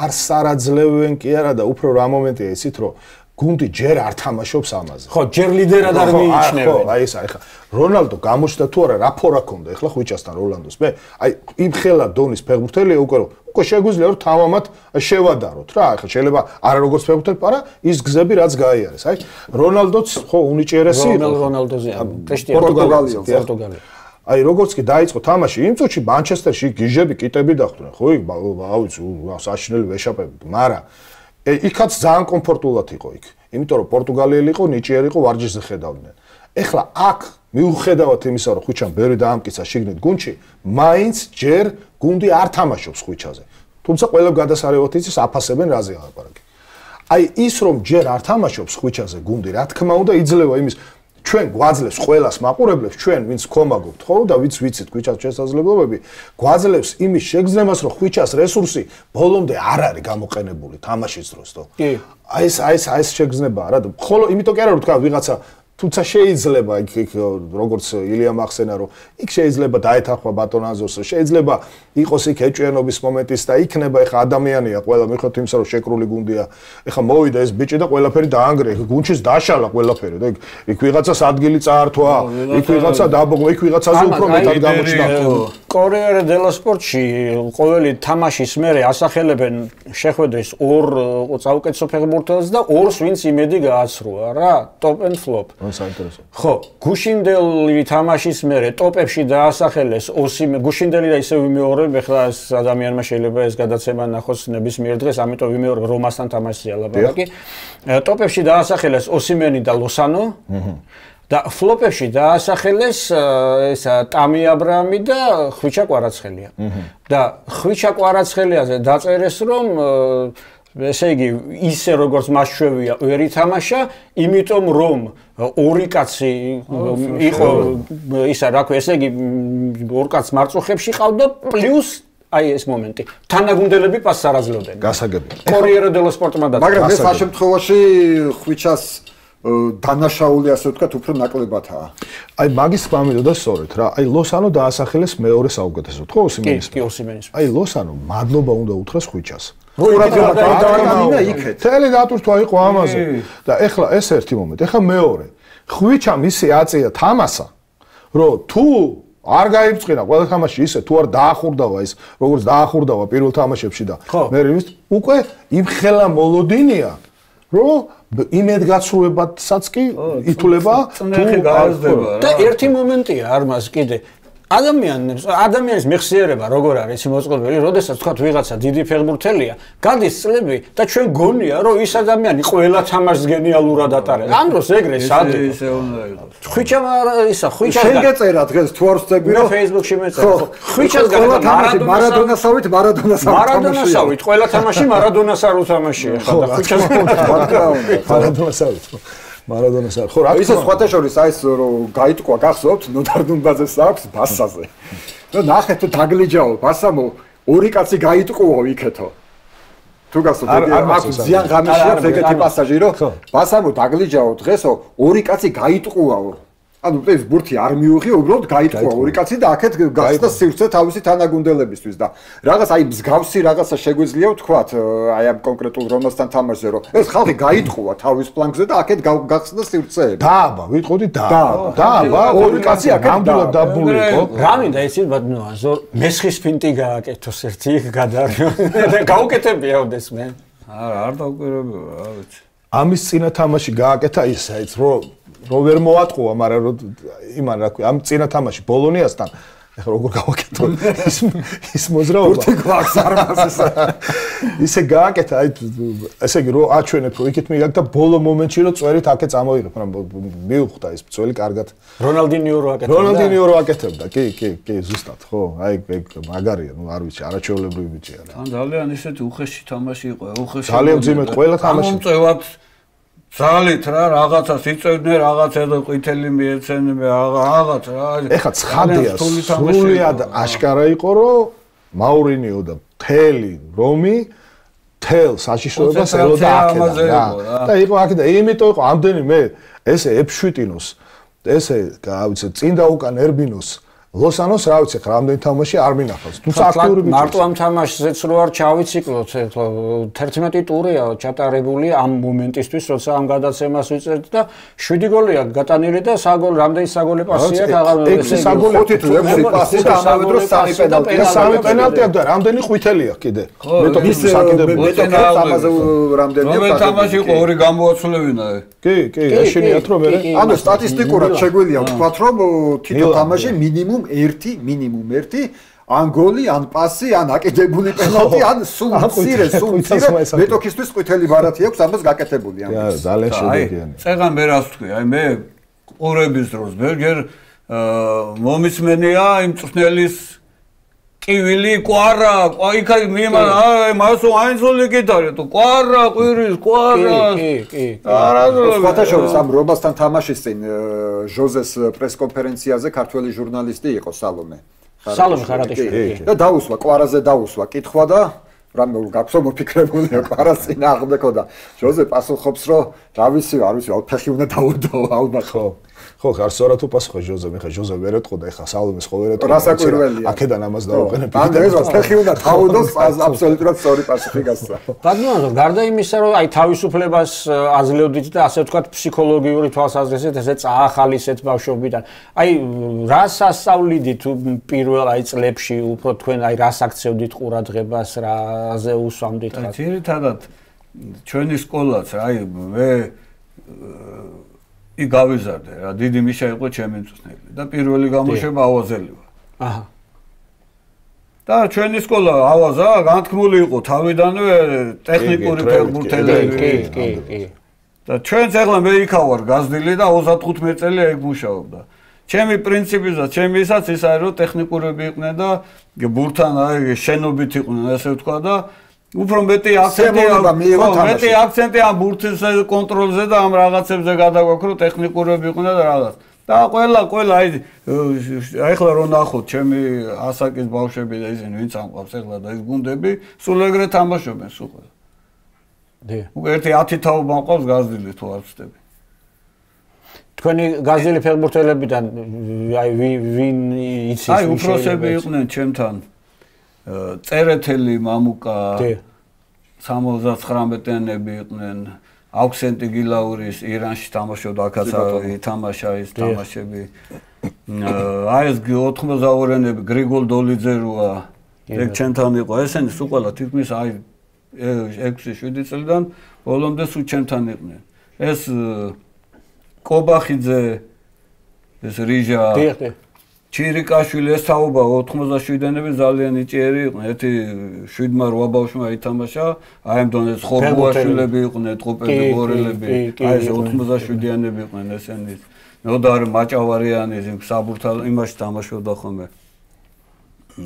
არ სარაძლევენ კი არა და უფრო რა მომენტია ისიც რომ გუნდი ჯერ არ თამაშობს ამაზე. ხო, ჯერ ლიდერად არ მიიჩნევენ. ხო, აი ეს აი ხა რონალდო გამოჩნდა თუ არა რა ფორა ქონდა ეხლა ხვიჩასთან როლანდოს. მე აი იმ ხელა დონის ფეხბურთელია უკვე შეგვიძლია რომ თავამად შევადაროთ რა. ახლა შეიძლება არა როგორც ფეხბურთელი, არა ის გზები რაც გაიარეს. აი რონალდოც ხო უნიჭიერესი იყო. რონალდოზე პორტუგალია. აი როგორც კი დაიწყო თამაში იმ წუთში მანჩესტერში გიჟები კიტები დახვდნენ. ხო, აუცი საშინელი ვეშაპები, მაგრამ იქაც ძალიან კომფორტულად იყო იქ. იმიტომ რომ პორტუგალიელი იყო, ნიჭიერი იყო, ვარჯიშზე ხედავდნენ. ეხლა აქ მიუხედავად იმისა, რომ ხვიჩამ ბევრი დაამტკიცა შიგნით გუნდში, მაინც ჯერ გუნდი არ თამაშობს ხვიჩაზე. თუმცა ყველა გადასარევად იცის აფასებენ რაზე აღაპარაკი. აი ის რომ ჯერ არ თამაშობს ხვიჩაზე გუნდი, რა თქმა უნდა იძლევა იმის ჩვენ გვაძლევს ყველას მაყურებლებს ჩვენ ვინც კომაგობთ ხო და ვინც ვიცით ხვიჩას შესაძლებლობები გვაძლევს იმის შეგრძნებას რომ ხვიჩას რესურსი ბოლომდე არ არის გამოყენებული თამაშის დროს თო აი ეს შეგრძნებაა რა ხოლო იმიტომ კი არა რომ თქვა ვიღაცა თუმცა შეიძლება იქ როგორც ილია მახსენა რომ იქ შეიძლება დაეთანხმა ბატონ აზორს შეიძლება იყოს იქ ეჭვიანობის მომენტის და იქნება ეხა ადამიანია ყველა მიხედვით იმისა რომ შეკრული გუნდია ეხა მოვიდა ეს ბიჭი და ყველაფერი დაანგრე გუნჩის დაშალა ყველაფერი და იქ ვიღაცას ადგილი წაართვა იქ ვიღაცა დაბოღვა იქ ვიღაცაზე უფრო მეტად გამოჩნდა კორიერ დელა სპორტში ყოველი თამაშის მერე ასახელებენ შეხვედრის ორ საუკეთესო ფეხბურთელს და ორს ვინც იმედი გააცრუა რა ტოპ and flop საინტერესო. ხო, გუშინდელი თამაშის მერე ტოპებში დაასახელეს ოსიმე გუშინდელი და ისე ვიმეორებ, ეხლა ეს ადამიანმა შეიძლება ეს გადაცემა ნახოს ნებისმიერ დღეს, ამიტომ ვიმეორებ რომასთან თამაშია ლაპარაკი. ტოპებში დაასახელეს ოსიმენი და ლოსანო. და ფლოპებში დაასახელეს ესა ტამი აბრაამი და ხვიჩა კვარაცხელია. და ხვიჩა კვარაცხელიაზე დაწერეს რომ ესე იგი ისე როგორც მას შვევია ვერ ითამაშა, იმიტომ რომ ორი კაცი იყო ისა რა ქვია, ესე იგი ორ კაც მარწუხებში ყავდა პლუს აი ეს მომენტი. თანაგუნდელები პასს არ აძლევდნენ. გასაგები. კორიერ დელო სპორტმა და მაგრამ ეს ამ შემთხვევაში ხვიჩას დანაშაული ასე ვთქვათ უფრო ნაკლებადაა. აი მაგის გამიდოდა სწორედ რა. აი ლოსანო დაასახელეს მეორე საუკეთესოდ, ხო ოსიმენის? კი, ოსიმენის. აი ლოსანო მადლობა უნდა უთხრას ხვიჩას. თელი დატვირთვა იყო ამაზე და ეხლა ეს ერთი მომენტი. ეხლა მეორე. ხვიჩამ ისე აწია თამასა, რომ თუ არ გაიბწყინა ყველა თამაში ისე თუ არ დაახურდავა ის როგორც დაახურდავა პირველ თამაშებში და მე ის უკვე იმ ხელა მოლოდინია რომ იმედგაცრუებადსაც კი ითვლება თუ გააზრდება და ერთი მომენტია არ მას კიდე ადამიანის მეხსიერება როგორ არის მოწყობილი, როდესაც თქვა ვიღაცა დიდი ფეხბურთელია, გადის წლები და ჩვენ გონია რომ ის ადამიანი ყველა თამაშს გენიალურად ატარებს. ამ დროს ეგრე სადი ისე უნდა იყოს. ხვიჩამ ისა ხვიჩას შენ გეწერა დღეს თუ არ ვწდები რომ Facebook-ში მეწერა. ხვიჩას გადა მარადონასავით მარადონასავით ყველა თამაში მარადონას არ უთამაშია ხა და ხვიჩას მარადონასავით მარადონას არ ხო რა ისე სხვათა შორის აი ეს რომ გაიტყვა გახსოვთ ნოდარდუნბაძეს აქვს ბასაზე და ნახეთ თუ დაგლიჯაო ბასამო ორი კაცი გაიტყუო იქეთო თუ გახსოვთ აქ ზიან ღამეში აქვს ეგეთი პასაჟი რომ ბასამო დაგლიჯაო დღესო ორი კაცი გაიტყუაო ანუ ეს ბურთი არ მიუღია უბრალოდ გაიტყვა ორი კაცი და აქეთ გახსნა სივრცე თავისი თანაგუნდელებისთვის და რაღაც აი მსგავსი რაღაცა შეგვიძლია ვთქვათ აი ამ კონკრეტულ რომასთან თამაშზე რომ ეს ხალხი გაიტყვა თავის პლანკზე და აქეთ გახსნა სივრცეები დააბა ვიტყოდი დააბა ორი კაცი აქეთ ნამდვილად დაბული იყო რა მინდა იცით ბატონო აზორ მესხის ფინტი გააკეთოს ერთი იქ გადარიო და გაუკეთებიაოდეს მე არ დავკვირვებია რა ვიცი ამის წინა თამაში გააკეთა ისეც რომ ვერ მოატყუა, მაგრამ იმან რა ქვია, ამ წინა თამაში ბოლონიასთან ეხლა როგორ გავაკეთო ის მოძრაობა ბურთი გვაქვს არმაზის ისე გააკეთა აი ესე იგი რომ აჩვენებ რომ იქით მიგაკ და ბოლო მომენტში რომ წვერით აქე წამოიღებ მაგრამ მიუხვდა ის წველი კარგად რონალდინიო რო აკეთებდა კი ზუსტად ხო აი მაგარია ნუ არ ვიცი არაჩვეულებრივი ბიჭია რა თან ძალიან ისეთი უხეში თამაში იყო უხეში ძალიან ძიმედ ყველა თამაში მომწევად ძალით რა რაღაცას იწევდნენ რაღაცა და ყვითელი მიეცენენ რაღაც რა ეხა ცხადია სრულიად აშკარა იყო რომ მაურინიო და მთელი რომი თელ საშიშროებას ელოდა აქედან და იყო აქ და იმიტომ იყო ამდენი მე ესე ეფშვიტინოს ესე რა ვიცი წინ და უკან ერბინოს ლოსანოს რა ვიცი ხა რამდენი თამაში არ მინახავს თუმცა აქტიური ბიჭია მარტო ამ თამაშზეც რო არ ჩავიციკლოთ ეხლა 11 ტურია ჩატარებული ამ მომენტისთვის როცა ამ გადაცემას ვიწერთ და 7 გოლია გატანილი და რამდენი საგოლე პასია აღარ 6 საგოლე 5 პასი და ამავე დროს 3 პენალტი აქვს და რამდენი ყვითელია კიდე მეტოქის საკიდებს ამაზე რამდენია რომელ თამაში იყო ორი გამოაცვლებინა კი ეშინიათ რომ მე ანუ სტატისტიკურად შეგვიძლია ვთქვათ რომ თითო თამაში მინიმუმ 1 ან გოლი, ან პასი, ან აკიდებული პენალტი, ან სულ მცირე მეტოქისთვის ყვითელი ბარათი აქვს, ამას გაკეთებული ამას. ძალიან შედეგიანი. წეგან მე რას ვთქვი, აი მე ყურების დროს ბერგერ მომისმენია იმ წვნელის კივილი კვარა, იქა მასო აინზოლი კიდარი თუ კვარა, ყვირის, კვარა. კი. სხვათაშორის ამ რობასთან თამაშის წინ ჟოზეს პრესკონფერენციაზე ქართველი ჟურნალისტი იყო სალომე ხარატიშვილი. და დაუსვა, კვარაზე დაუსვა კითხვა და რამე გაქვსო მოფიქრებულია კვარას წინ აღდეკო და ჟოზე პასუხობს რომ რა ვიცი, არ ვიცი, ფეხი უნდა დაუდო ალბათ ხო. ხო, არ სწორად უპასუხა ჟოზე, მე ხა ჟოზე ვერ ეთყო და ეხა სალომეს ხო ვერ ეთყო. რასაკვირველია. აქედან ამას დავაყენებ. ან ეს ფეხი უნდა დაუდოს, აბსოლუტურად სწორი პასუხი გასცა. ბატონო, გარდა იმისა, რომ აი თავისუფლებას აძლევდით და ასე ვთქვათ, ფსიქოლოგიური თვალსაზრისით ესე წაახალისეთ ბავშვობიდან. აი რას ასწავლიდით პირველ აი წლებში, უფრო თქვენ აი რას აქცევდით ყურადღებას, რაზე უსვამდით რა? ძირითადად ჩვენი სკოლაც აი მე გავიზარდე რა დიდი მიშა იყო ჩემი მწვრთნელი და პირველი გამოშვება ავაზელი ვარ. აჰა. და ჩვენი სკოლა ავაზა განთქმული იყო თავიდანვე ტექნიკური ფეხბურთელები. კი. და ჩვენც ახლა მე იქა ვარ გაზრდილი და 35 წელი ეგ მუშაობდა. ჩემი პრინციპიზა, ჩემი ისაც ის არის რომ ტექნიკურები იყვნენ და ბურთთან აი შენობით იყვნენ ასე ვთქვა და უფრო მეტი აქცენტი ამ ბურთის კონტროლზე და ამ რაღაცებზე გადაგვაქვს რომ ტექნიკურები იყვნენ და რაღაც. და ყველა აი ახლა რომ ნახოთ ჩემი ასაკის ბავშვები და ისინი ვინც ამყავს ახლა და ის გუნდები სულ ეგრე თამაშობენ სულ ყველა. უკვე ერთი 10 თაობა მყავს გაზრდილი თუ არ ვცდები. თქვენი გაზრდილი ფეხბურთელებიდან აი ვინ იცის აი უფროსები იყვნენ ჩემთან წერეთელი მამუკა 79-იანები იყვნენ აუქსენტი გილაურის ირანში თამაშობდა აქაც ითამაშა ის თამაშები აი ეს 82-იანები გრიგოლ დოლიძე როა ეგ ჩემთან იყო ესენი სულ ყველა თითქმის აი 6-7 წლიდან ბოლომდე სულ ჩემთან იყვნენ ეს კობახიძე ეს რიჟა ჩირიკაშვილი ეს თაობა 87-იანები ძალიან იჭიერი იყვნენ. ერთი 7-8 ბავშვმა ითამაშა, აი ამ დონეზე ხორბუაშვილები იყვნენ, ტყუპები, ბორელები, აი ეს 87-იანები იყვნენ ესენი. ნოდარ მაჭავარიანი საბურთალ იმაში თამაშობდა ხოლმე.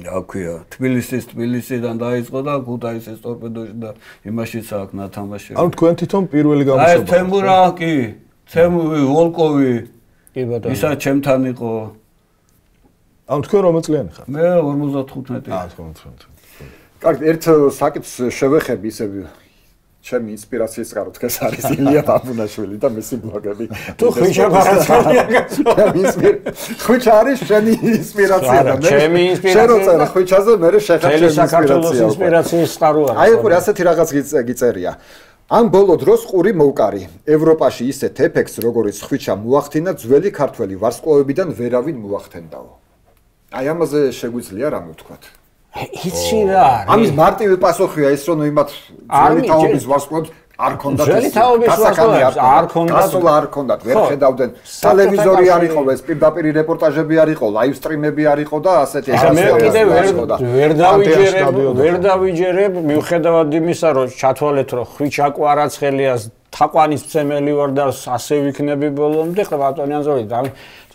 რა ქვია, თბილისიდან დაიწყო და ქუთაისის ტორპედოში და იმაშიც აქ ნათამაშე. ანუ თქვენ თვითონ პირველი გამოშვება. აი თემურა კი, ვოლკოვი. კი ბატონო. ისა ჩემთან იყო. ანუ თქვენ რომელ წლიანი ხართ? მე 55. 55. კარგი, ერთ საკითხს შევეხები ისე ჩემი ინსპირაციის წყარო დღეს არის ილია ბაბუნაშვილი და მისი ბლოგები. თუ ხვიჩა ბარათალია გასული. ხვიჩა არის შენი ინსპირაცია და მე ჩემი ინსპირაცია. შენ როცა ხვიჩაზე მე შეხარ ჩემი საქართველოს ინსპირაციის წყარო არის. აი ყური ასეთი რაღაც გიწერია. ამ ბოლო დროს ყური მოვკარი. ევროპაში ისეთ ეფექტს როგორიც ხვიჩა მოახდინა ძველი ქართველი ვარსკვლავებიდან ვერავინ მოახდენდაო. აი ამაზე შეგვიძლია რამე ვთქვათ. იცი რა არის? ამის მარტივი პასუხია ის რომ იმათ ძველი თაობის ვარსკვლავებს არ ქონდათ ძველი თაობის ვარსკვლავებს არ ქონდათ. გასულა არ ქონდათ, ვერ ხედავდნენ. ტელევიზორი არ იყო, ეს პირდაპირ რეპორტაჟები არ იყო, ლაივ სტრიმები არ იყო და ასეთი მე კიდე ვერ დავიჯერებ მიუხედავად იმისა, რომ ჩათვალეთ, რომ ხვიჩა კვარაცხელიას თაყვანის მცემელი ვარ და ასე ვიქნები ბოლომდე, ხო ბატონი ანზორი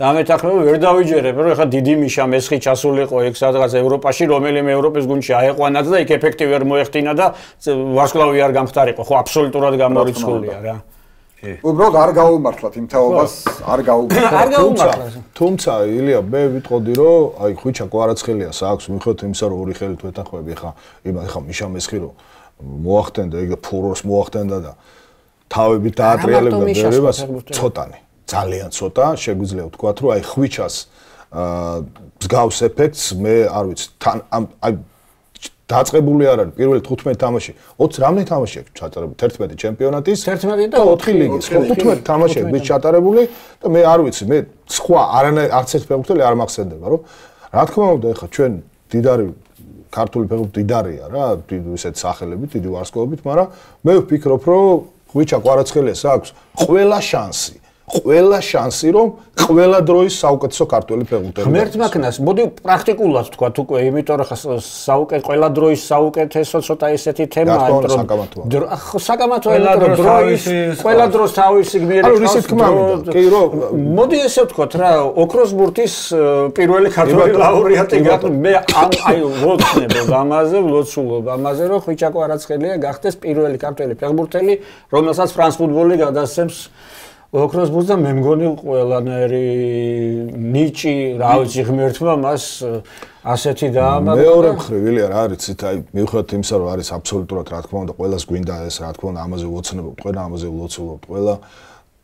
დამეთანხმება ვერ დავიჯერებ, რომ ეხლა დიდი მიშა მესხი ჩასულიყო ეგ სადღაც ევროპაში, რომელიმე ევროპის გუნდში აეყვანათ და იქ ეფექტი ვერ მოეხდინა და ვარსკვლავი არ გამხდარიყო, ხო აბსოლუტურად გამორიცხულია რა. უბრალოდ არ გაუმართლათ იმ თაობას, არ გაუმართლათ. თუმცა ილია მე ვიტყოდი რომ აი ხვიჩა კვარაცხელიას აქვს მიხედვით იმისა რომ ორი ხელით ვეთანხმები ხა მიშა მესხი რომ მოახდენდა ეგ ფურორს მოახდენდა და თავებით დაატრიალებდა ბერებას ცოტანი ძალიან ცოტა შეგვიძლია ვთქვათ რომ აი ხვიჩას მსგავს ეფექტს მე არ ვიცი თან აი დაწყებული არ არის პირველი 15 თამაში 20 რამდენი თამაში აქვს ჩატარებული 11 ჩემპიონატის 11 და 4 ლიგის 15 თამაშები არის ჩატარებული და მე არ ვიცი მე სხვა არც ერთ ფეხბურთელი არ მახსენდება რომ რა თქმა უნდა ეხლა ჩვენ დიდარი ქართული ფეხბურთი დიდარია რა ისეთ სახელებით დიდი ვარსკვლავებით მაგრამ მე ვფიქრობ რომ ხვიჩა კვარაცხელიას აქვს ყველა შანსი რომ ყველა დროის საუკეთესო ქართველი ფეხბურთელი ღმერთმა ქნას მოდი პრაქტიკულად ვთქვათ უკვე იმიტომ რომ ყველა დროის საუკეთესო ცოტა ესეთი თემაა საკამათოა ყველა დროს თავისი გმირი ანუ ისეთ თქმავდა კი რომ მოდი ესე ვთქვათ რა ოქროს ბურთის პირველი ქართველი ლაურეატი მე აი ვოცნებობ ამაზე რომ ხვიჩა კვარაცხელია გახდეს პირველი ქართველი ფეხბურთელი რომელსაც ფრანს ფუტბოლი გადასცემს ოქროს ბურთს და მე მგონი ყველანაირი ნიჭი რა ვიცი ღმერთმა მას ასეთი დაამაგრა მეორე მხრივ ილია რა არის იცით აი მიუხედავად იმისა რომ არის აბსოლუტურად რა თქმა უნდა ყველას გვინდა ეს რა თქმა უნდა ამაზე ვოცნებობთ ყველა ამაზე ვლოცულობთ ყველა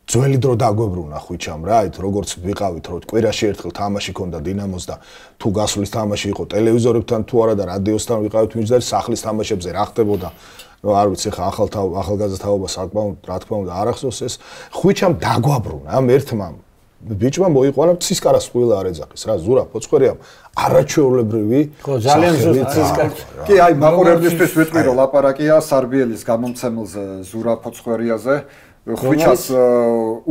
ძველი დრო დაგვებრუნა ხვიჩამ რა ით როგორც ვიყავით რომ კვირაში ერთხელ თამაში ქონდა დინამოს და თუ გასulis თამაში იყო ტელევიზორებთან თუ არა და რადიოსთან ვიყავით მიჯდარი სახლის თამაშებზე რა ხდებოდა no არ ვიცი ხა ახალგაზრდა თაობა საკმაოდ რა თქმა უნდა არ ახსოვს ეს ხვიჩამ დაგვაბრუნა ამ ერთმა ბიჭმა მოიყვანა ცისკარას ყველა არ ეძახის რა ზურა ფოცხვერიამ არაჩვეულებრივი ხო ძალიან ზუსტი ცისკარი კი აი მაყურებლისთვის ვიტყვი რომ ლაპარაკია სარბიელის გამომცემელზე ზურა ფოცხვერიაზე ხვიჩას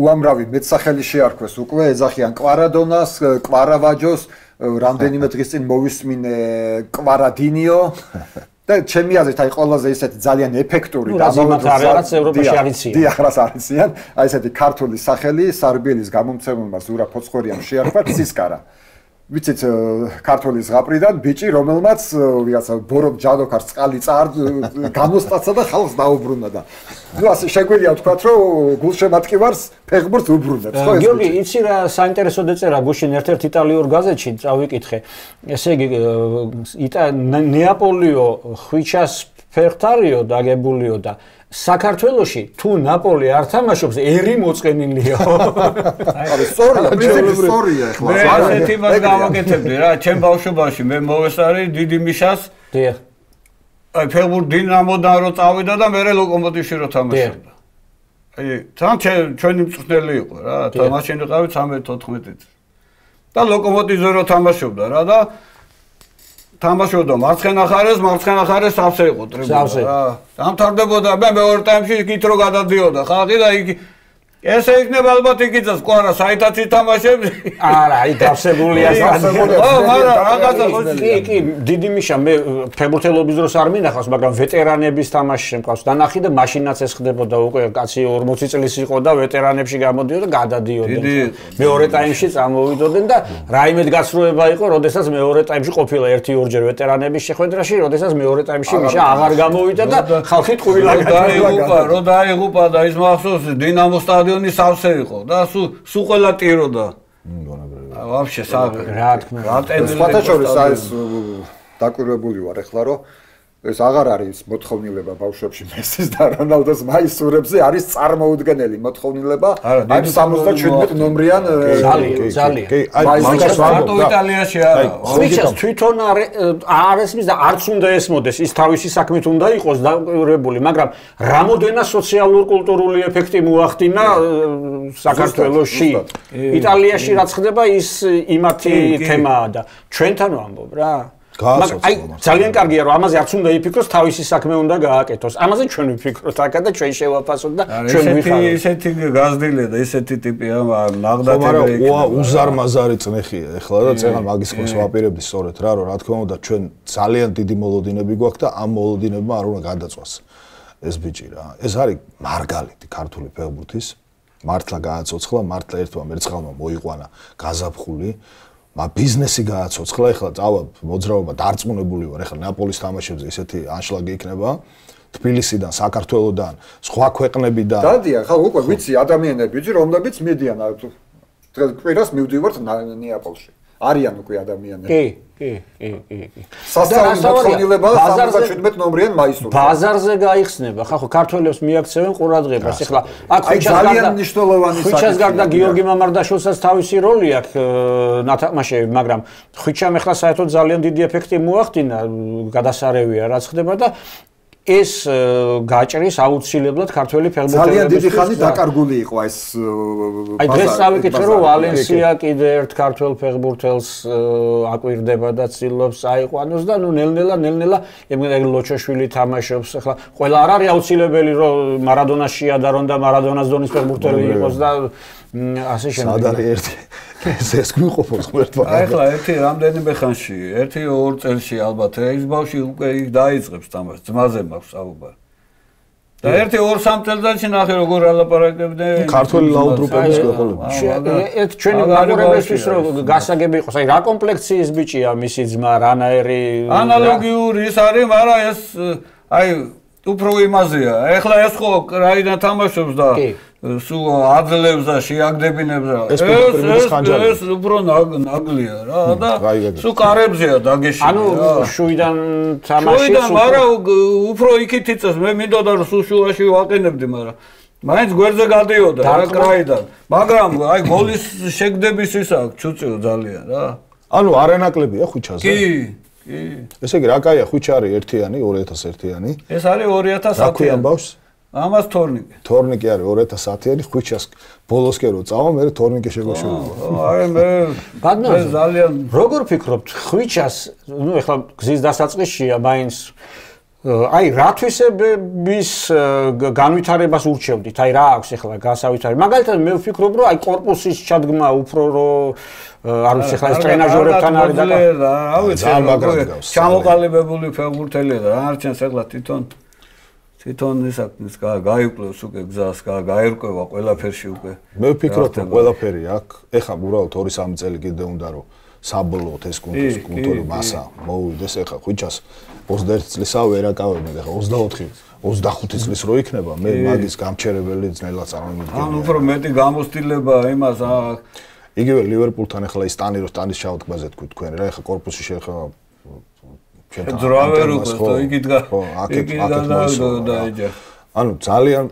უამრავი მეტსახელი შეარქვეს უკვე ეძახიან კვარადონას კვარავაჯოს რამდენიმე დღის წინ მოვისმინე კვარადინიო და ჩემი აზრით აი ყველაზე ისეთი ძალიან ეფექტური და რაღაც ევროპაში არიციან. დიახ, არიციან. აი ესეთი ქართული სახელი სარბიელის გამომცემელმა ზურა ფოცხვერიამ შეარქვა ცისკარა. ვიცით ქართული ზღაპრიდან ბიჭი რომელმაც ვიღაცა ბორობ ჯადოქარს წყალი გამოსტაცა და ხალხს დაუბრუნა და ნუ ასე შეგვიძლია ვთქვათ რომ გულშემატკივარს ფეხბურთს უბრუნებს ხო ეს გიორგი იცი რა საინტერესო დაწერა გუშინ ერთ-ერთ იტალიურ გაზეთში წავიკითხე ესე იგი ნეაპოლიო ხვიჩას ფეხთარიო დაგებულიო და საქართველოში თუ ნაპოლი არ თამაშობს ერი მოწყენილიო აი სწორია ახლა მე ასეთი მას გავაკეთებდი რა ჩემ ბავშვობაში მე მოვესწარი დიდი მიშას დიახ აი ფეხბურთი დინამოდან რო წავიდა და მე ლოკომოტივში რო თამაშობდა აი თან ჩვენი მწვრთნელი იყო რა თამაშენ ვიყავით 13-14 და ლოკომოტივზე რო თამაშობდა რა და თამაშობდა მარცხენა ხარეს სავსე იყო ტრიბუნა რა დამთავრდებოდა მე მეორე ტაიმში იქით რო გადადიოდა ხალხი და იქ ესე იქნება ალბათ იქიცას კვარა საიტაცი თამაშები არა აი დავსებულია რაღაცა კი დიდი მიშა მე ფეხბურთელობის დროს არ მინახავს მაგრამ ვეტერანების თამაში მყავს დანახი და მაშინაც ეს ხდებოდა უკვე კაცი 40 წლის იყო და ვეტერანებში გამოდიოდა და გადადიოდნენ მეორე ტაიმში წამოვიდოდნენ და რაიმედ გასროება იყო როდესაც მეორე ტაიმში ყოფილა 1-2 ვეტერანების შეხვედრაში როდესაც მეორე ტაიმში მიშა აღარ გამოვიდა და ხალხი ტყუილა დაიღუპა და ის მახსოვს დინამო სტადიონი სავსე იყო და სულ ყველა ტიროდა. ვაფშე რა თქმა უნდა. სხვათა შორის ეს დაკვირვებული ვარ ახლა რომ ეს აღარ არის მოთხოვნილება ბავშვებში მესის და რონალდოს მაისურებზე არის წარმოუდგენელი მოთხოვნილება აი 77 ნომრიან ძალიან კი აი მაგას მარტო იტალიაში არა ხვიჩას თვითონ არ ესმის და არც უნდა ესმოდეს ის თავისი საქმით უნდა იყოს დაკვირვებული მაგრამ რამოდენა სოციალურ-კულტურული ეფექტი მოახდინა საქართველოში იტალიაში რაც ხდება ის იმათი თემაა და ჩვენთან ვამბობ რა გააცოცხლა. ძალიან კარგია რომ ამაზე არც უნდა იფიქროს, თავისი საქმე უნდა გააკეთოს. ამაზე ჩვენ ვიფიქროთ აქა და ჩვენ შევაფასოთ და ჩვენ ვიხაროთ. ესეთი გაზრდილია და ესეთი ტიპია ნაღდათები. მაგრამ უზარმაზარი წნეხია ეხლა და წეღან მაგის ხმას ვაპირებდი სწორედ რა რა თქმა უნდა ჩვენ ძალიან დიდი მოლოდინები გვაქვს და ამ მოლოდინებმა არ უნდა გადაწვას ეს ბიჭი რა. ეს არის მარგალიტი ქართული ფეხბურთის. მართლა გააცოცხლა, მართლა ერთმა მერცხალმა მოიყვანა გაზაფხული. ბიზნესი გააცოცხლა, ეხლა წავა მოძრაობა დარწმუნებული ვარ, ეხლა ნაპოლის თამაშებზე ისეთი ანშლაგი იქნება, თბილისიდან, საქართველოსდან, სხვა ქვეყნებიდან. დადიან, ხა უკვე ვიცი ადამიანები, რომლებიც მიდიან დღეს კვირას მივდივართ ნეაპოლში. არიან უკვე ადამიანები. კი. სასწაული მოთხოვნილება 77 ნომრიან მაისურს. ბაზარზე გაიხსნება, ხა ხო ქართველებს მიაქცევენ ყურადღებას. ეხლა აქ ძალიან მნიშვნელოვანი საკითხია. ხვიჩას გარდა გიორგი მამარდაშვილსაც თავისი როლი აქვს ნათამაშები, მაგრამ ხვიჩამ ეხლა საერთოდ ძალიან დიდი ეფექტი მოახდინა, გადასარევია რაც ხდება და ეს გაჭრის აუცილებლად ქართველი ფეხბურთელების ძალიან დიდი ხანი დაკარგული იყო ეს აი დღეს წავიკითხე რომ ვალენსია კიდე ერთ ქართველ ფეხბურთელს აკვირდება და ცდილობს აიყვანოს და ნუ ნელ-ნელა ლოჩოშვილი თამაშობს ახლა ყველა არ არის აუცილებელი რომ მარადონას შეადარონ და მარადონას დონის ფეხბურთელი იყოს და ასე შემდეგ. სად არის ერთი ეს გვიყოფოს ღმერთმა. ახლა ერთი რამდენიმე ხანში, ერთი 2 წელში ალბათ ეს ბავშვი უკვე დაიწყებს თამაშს, ძმაზე მაქვს საუბარი. და ერთი 2-3 წელიწადში ნახე როგორ ალაპარაკებდნენ ქართველი ლაუდრუპების ქვეყნები. ერთ ჩვენი მაგურებისთვის რომ გასაგები იყოს, აი რა კომპლექციის ბიჭია მისი ძმა, რანაერი ანალოგიური ის არის, მაგრამ ეს აი უფრო იმაზეა. ახლა ეს ხო რაიდან თამაშობს და სულ აძლევს და შეაგდებინებს და ეს უფრო ნაგლია რა და სულ კარებზეა დაგეშინე. ანუ შუიდან თამაშიც მაგრამ უფრო იქით იწეს მე მინდოდა რომ სულ შუაში ვაყენებდი მაგრამ მაინც გვერდზე გადიოდა რა კრაიდან. მაგრამ აი გოლის შეგდების ის აქვს ჩუწიო ძალიან რა. ანუ არანაკლებია ხვიჩაზე. კი. ესე იგი რა კაია ხვიჩი არის ერთიანი 2001-იანი. ეს არის 2010-იანი. რა ქვია ბავშვს? ამას თორნიკე. თორნიკე არის 2010-იანი ხვიჩას ბოლოსკენ რო წავა მე თორნიკე შეგვეშურება. აი მე ძალიან როგორ ფიქრობთ ხვიჩას ნუ ეხლა გზის დასაწყისშია მაინც აი რათვისების განვითარებას ურჩევდით აი რა აქვს ეხლა გასავითარი მაგალითად მე ვფიქრობ რომ აი კორპუსის ჩადგმა უფრო რომ არ ვიცი ეხლა ეს ტრენაჟორებთან არის და რა ვიცი ჩამოყალიბებული ფეხბურთელია და რა არჩენს ეხლა თვითონ ის გაიკლევს უკვე გზას გაერკვევა ყველაფერში უკვე მე ვფიქრობ რომ ყველაფერი აქვს ეხლა უბრალოდ 2-3 წელი კიდე უნდა რომ საბოლოოდ ეს კულტურის მასა მოვიდეს ეხლა ხვიჩას 21 წლისაა ვერაკავებენ ეხლა 24-25 წლის რო იქნება მე მაგის გამჩერებელი ძნელად წარმოვიდგენია. ანუ უფრო მეტი გამოცდილება იმას იგივე ლივერპულთან ეხლა ის სტანის ჩავთქმაზე თქვენ რა ეხლა კორპუსი შეეხება ძრავერ უკვე იქიდგა დაიჯა. ანუ ძალიან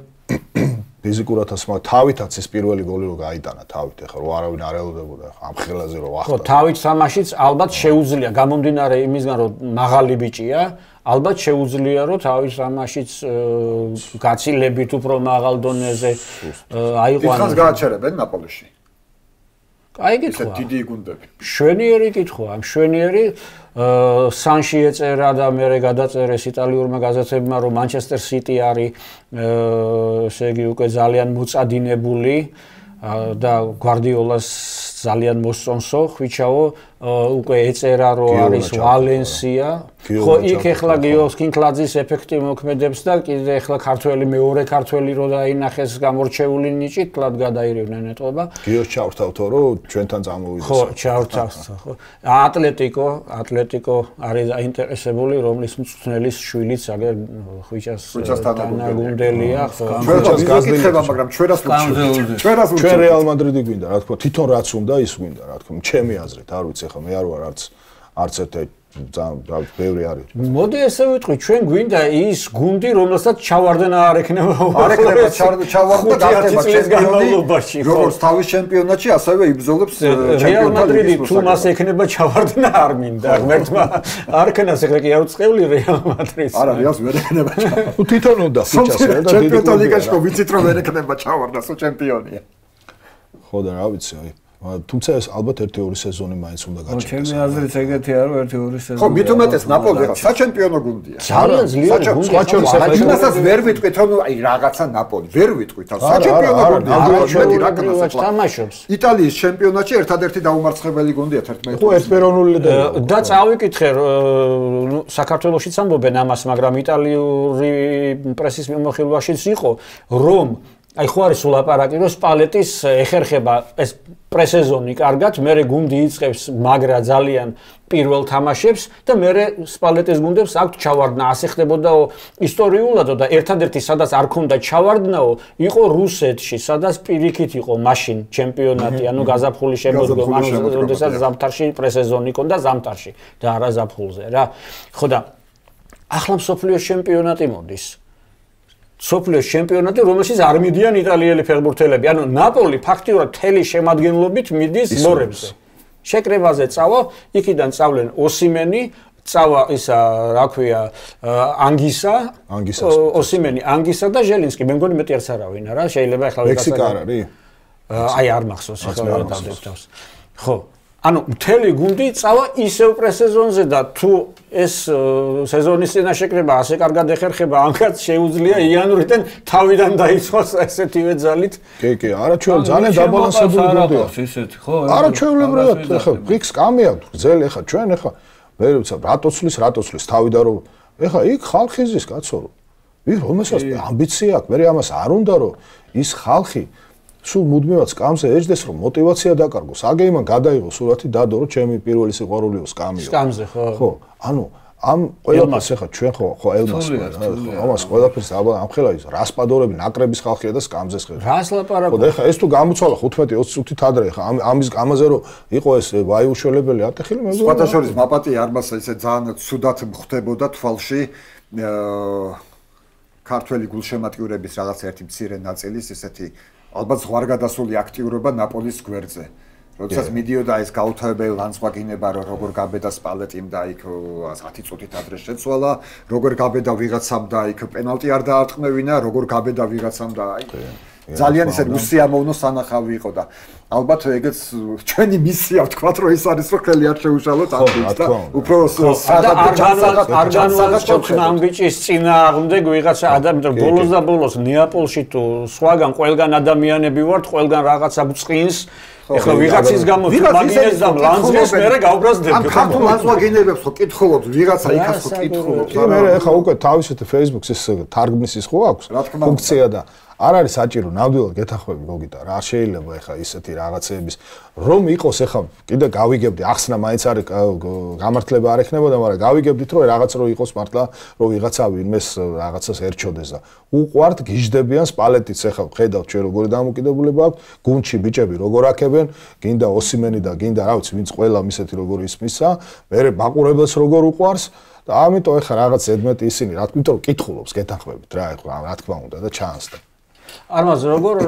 ფიზიკურად ასმა თავითაც ეს პირველი გოლი რო გაიტანა თავით ეხლა რო არავინ არ ელოდებოდა ამ ხელაზე რო ახლა. ხო თავით თამაშიც ალბათ შეუძლია გამომდინარე იმისგან რომ მაღალი ბიჭია ალბათ შეუძლია რომ თავით თამაშიც გაცილებით უფრო მაღალ დონეზე აიყვანოს. დიდხანს გააჩერებენ ნაპოლიში. აი კითხვა. ეს დიდი გუნდები. შვენიერი კითხვა, შვენიერი სანში ეწერა და მე გადაწერეს იტალიურმა გაზეთებმა რომ მანჩესტერ სიტი არის ესე იგი უკვე ძალიან მოწადინებული და გვარდიოლას ძალიან მოსწონსო ხვიჩაო უკვე ეწერა რომ არის ვალენსია ხო იქ ეხლა გიოს კინკლაძის ეფექტი მოქმედებს და კიდე ეხლა ქართველი მეორე ქართველი რო დაინახეს გამორჩეული ნიჭით კლად გადაირევნენ ეტყობა გიოს ჩავრთავთო რომ ჩვენთან წამოვიდეს ხო ჩავრთავთო ხო ატლეტიკო არის დაინტერესებული რომლის მწვრთნელის შვილიც აგერ ხვიჩასთან გუნდელია ხო ჩვენს გაზრდილი მაგრამ ჩვენას ჩვენ რეალ მადრიდი გვინდა რა თქმა თვითონ რაც უნდა ის გვინდა რა თქმა ჩემი აზრით არ ვიცი ხო მე არ ვარ არც ერთ ძალიან ბევრი არის. მოდი ესე ვიტყვი, ჩვენ გვინდა ის გუნდი, რომელსაც ჩავარდნა არ ექნება. არ ექნება ჩავარდნა გახდება ჩემპიონი. როგორც თავის ჩემპიონატში, ასევე იბრძოლებს რეალ მადრიდი თუ მას ექნება ჩავარდნა არ მინდა. ღმერთმა არ ქნას ეხლა კი არ უწყევლი რეალ მადრიდს. არა, რეალს ვერ ექნება ჩავარდნა. თვითონ უნდა ფიჩას და დიდი ჩემპიონთა ლიგაში ვიცით რომ ვერ ექნება ჩავარდნა, სო ჩემპიონია. ხო და რა ვიცი, აი თუმცა ეს ალბათ 1-2 სეზონი მაინც უნდა გაჩერდეს. ჩემი აზრით ეგეთი არ 1-2 სეზონი. ხო, მით უმეტეს ნაპოლი რა საჩემპიონო გუნდია. ძალიან ძლიერი გუნდია. იმასაც ვერ ვიტყვით, რომ აი რაღაცა ნაპოლი, ვერ ვიტყვით. საჩემპიონო გუნდია. ამგვარად რა განსაკუთრებით თამაშობს. იტალიის ჩემპიონატში ერთადერთი დაუმარცხებელი გუნდია 11. ხო, ერთპიროვნული და წავიკითხე, საქართველოშიც ამბობენ ამას, მაგრამ იტალიური პრესის მიმოხილვაშიც იყო, რომ აი ხო არის ულაპარაკი, რომ სპალეტის ეხერხება ეს პრესეზონი კარგად, მერე გუნდი იწყებს მაგრა ძალიან პირველ თამაშებს და მერე სპალეტის გუნდებს აქვთ ჩავარდნა. ასე ხდებოდაო ისტორიულადო და ერთადერთი სადაც არ ქონდა ჩავარდნაო, იყო რუსეთში, სადაც პირიქით იყო მაშინ ჩემპიონატი, ანუ გაზაფხული შემოდგომა, როდესაც ზამთარში პრესეზონი ქონდა ზამთარში და არა ზაფხულზე რა. ხო და ახლა მსოფლიოს ჩემპიონატი მოდის. სოფლიოს ჩემპიონატი, რომელშიც არ მიდიან იტალიელი ფეხბურთელები. ანუ ნაპოლი ფაქტიურად თელი შემადგენლობით მიდის მორებზე. შეკრებაზე წავა, იქიდან წავლენ ოსიმენი, წავა ისა, რა ქვია, ანგისა, ოსიმენი, ანგისა და ჟელინსკი. მე მგონი მეტი არც არავინ არა, შეიძლება ახლა მექსიკა არ არის? აი არ მახსოვს ახლა რა დავდებს. ხო. ანუ მთელი გუნდი წავა ისევ პრესეზონზე და თუ ეს სეზონის წინაშეკრება ასე კარგად ეხერხება, ამაც შეუძლია იანვრიდან თავიდან დაიწყოს ესეთივე ძალით. კი, არაჩვეულებრივ ძალიან დაბალანსებული გუნდია. ისეთი, ხო? არაჩვეულებრივად ეხა ვიქს კამი აქვს, გზელი ეხა ჩვენ ეხა მე ვიცი რატოცლის თავიდან რომ ეხა იქ ხალხი ზის კაცო. რომელსაც ამბიცია აქვს, მე ამას არ უნდა რომ ის ხალხი სულ მუდმივად სკამზე ეჯდეს რომ мотиваცია დაკარგოს. აგი იმან გადაიღო სურათი დადო რომ ჩემი პირველი სიყვარულიო სკამიო. სკამზე ხო? ხო, ანუ ამ ყველაფერს ახლა ჩვენ ხო ელმას ამას ყველაფერს ამ ხელა ის რასპადორები ნაკრების ხალხია და სკამზეს ხედავ. რას ლაპარაკობ? ხო და ახლა ეს თუ გამოცვალა 15-20 წუთით ადრე ახლა ამის ამაზე რომ იყო ეს ვაიუშველებელი ატეხილი მე მგონი. სხვათა შორის მაპატი არმასა ისე ძალიან ცუდად მხდებოდა თვალში ქართველი გულშემატკივრების რაღაც ერთი მცირე ნაწილის ესეთი ალბათ ზღვარგადასული აქტიურობა ნაპოლის გვერდზე. როდესაც მიდიოდა ეს გაუთავებელი ლანცვაგინება, რომ როგორ გაბედა სპალეტიმ და იქ 10 წუთით ადრე შეცვალა, როგორ გაბედა ვიღაცამ და იქ პენალტი არ დაარტყმევინა, როგორ გაბედა ვიღაცამ და აი ძალიან ისე უსიამოვნო სანახავი იყო და ალბათ ეგეც ჩვენი მისია ვთქვათ, რომ ეს არის რომ ხელი არ შეუშალოთ ამბიც და უფრო არგანულს ამ ბიჭის წინააღმდეგ ვიღაცა ადამიანი ბოლოს და ბოლოს ნეაპოლში თუ სხვაგან ყველგან ადამიანები ვართ, ყველგან რაღაცა ბწყინს ეხლა ვიღაცის გამო მაგინეს და ლანძღეს მერე გავბრაზდება. ამ ქართულ ლანძღენებებს ხო კითხულობთ, ვიღაცა იქაც ხო კითხულობთ. მე ეხლა უკვე თავისით Facebook-ს ეს თარგმნის ის ხო აქვს ფუნქცია და არ არის საჭირო ნამდვილად გეთახვები გოგიტა რა შეიძლება ეხა ისეთი რაღაცეების რომ იყოს ეხა კიდე გავიგებდი ახსნა მაინც არის გამართლება არ ექნებოდა მაგრამ გავიგებდით რომ რაღაც რო იყოს მართლა რომ ვიღაცა ვინმეს რაღაცას ერჩოდეს და უყვართ გიждდებიან სპალეტიც ეხა ხედავთ ჩვენ როგორი დამოკიდებულება აქვს გუნდში ბიჭები როგორ აქებენ გინდა ოსიმენი და გინდა რა ვიცი ვინც ყველა მისეთი როგორ ისმისა მე მაყურებელს როგორ უყვარს და ამიტომ ეხა რაღაც ზედმეტი ისინი რა თქმა უნდა კითხულობს გეთანხმებით რა ეხლა რა თქმა უნდა და ჩანს და არმაზ როგორ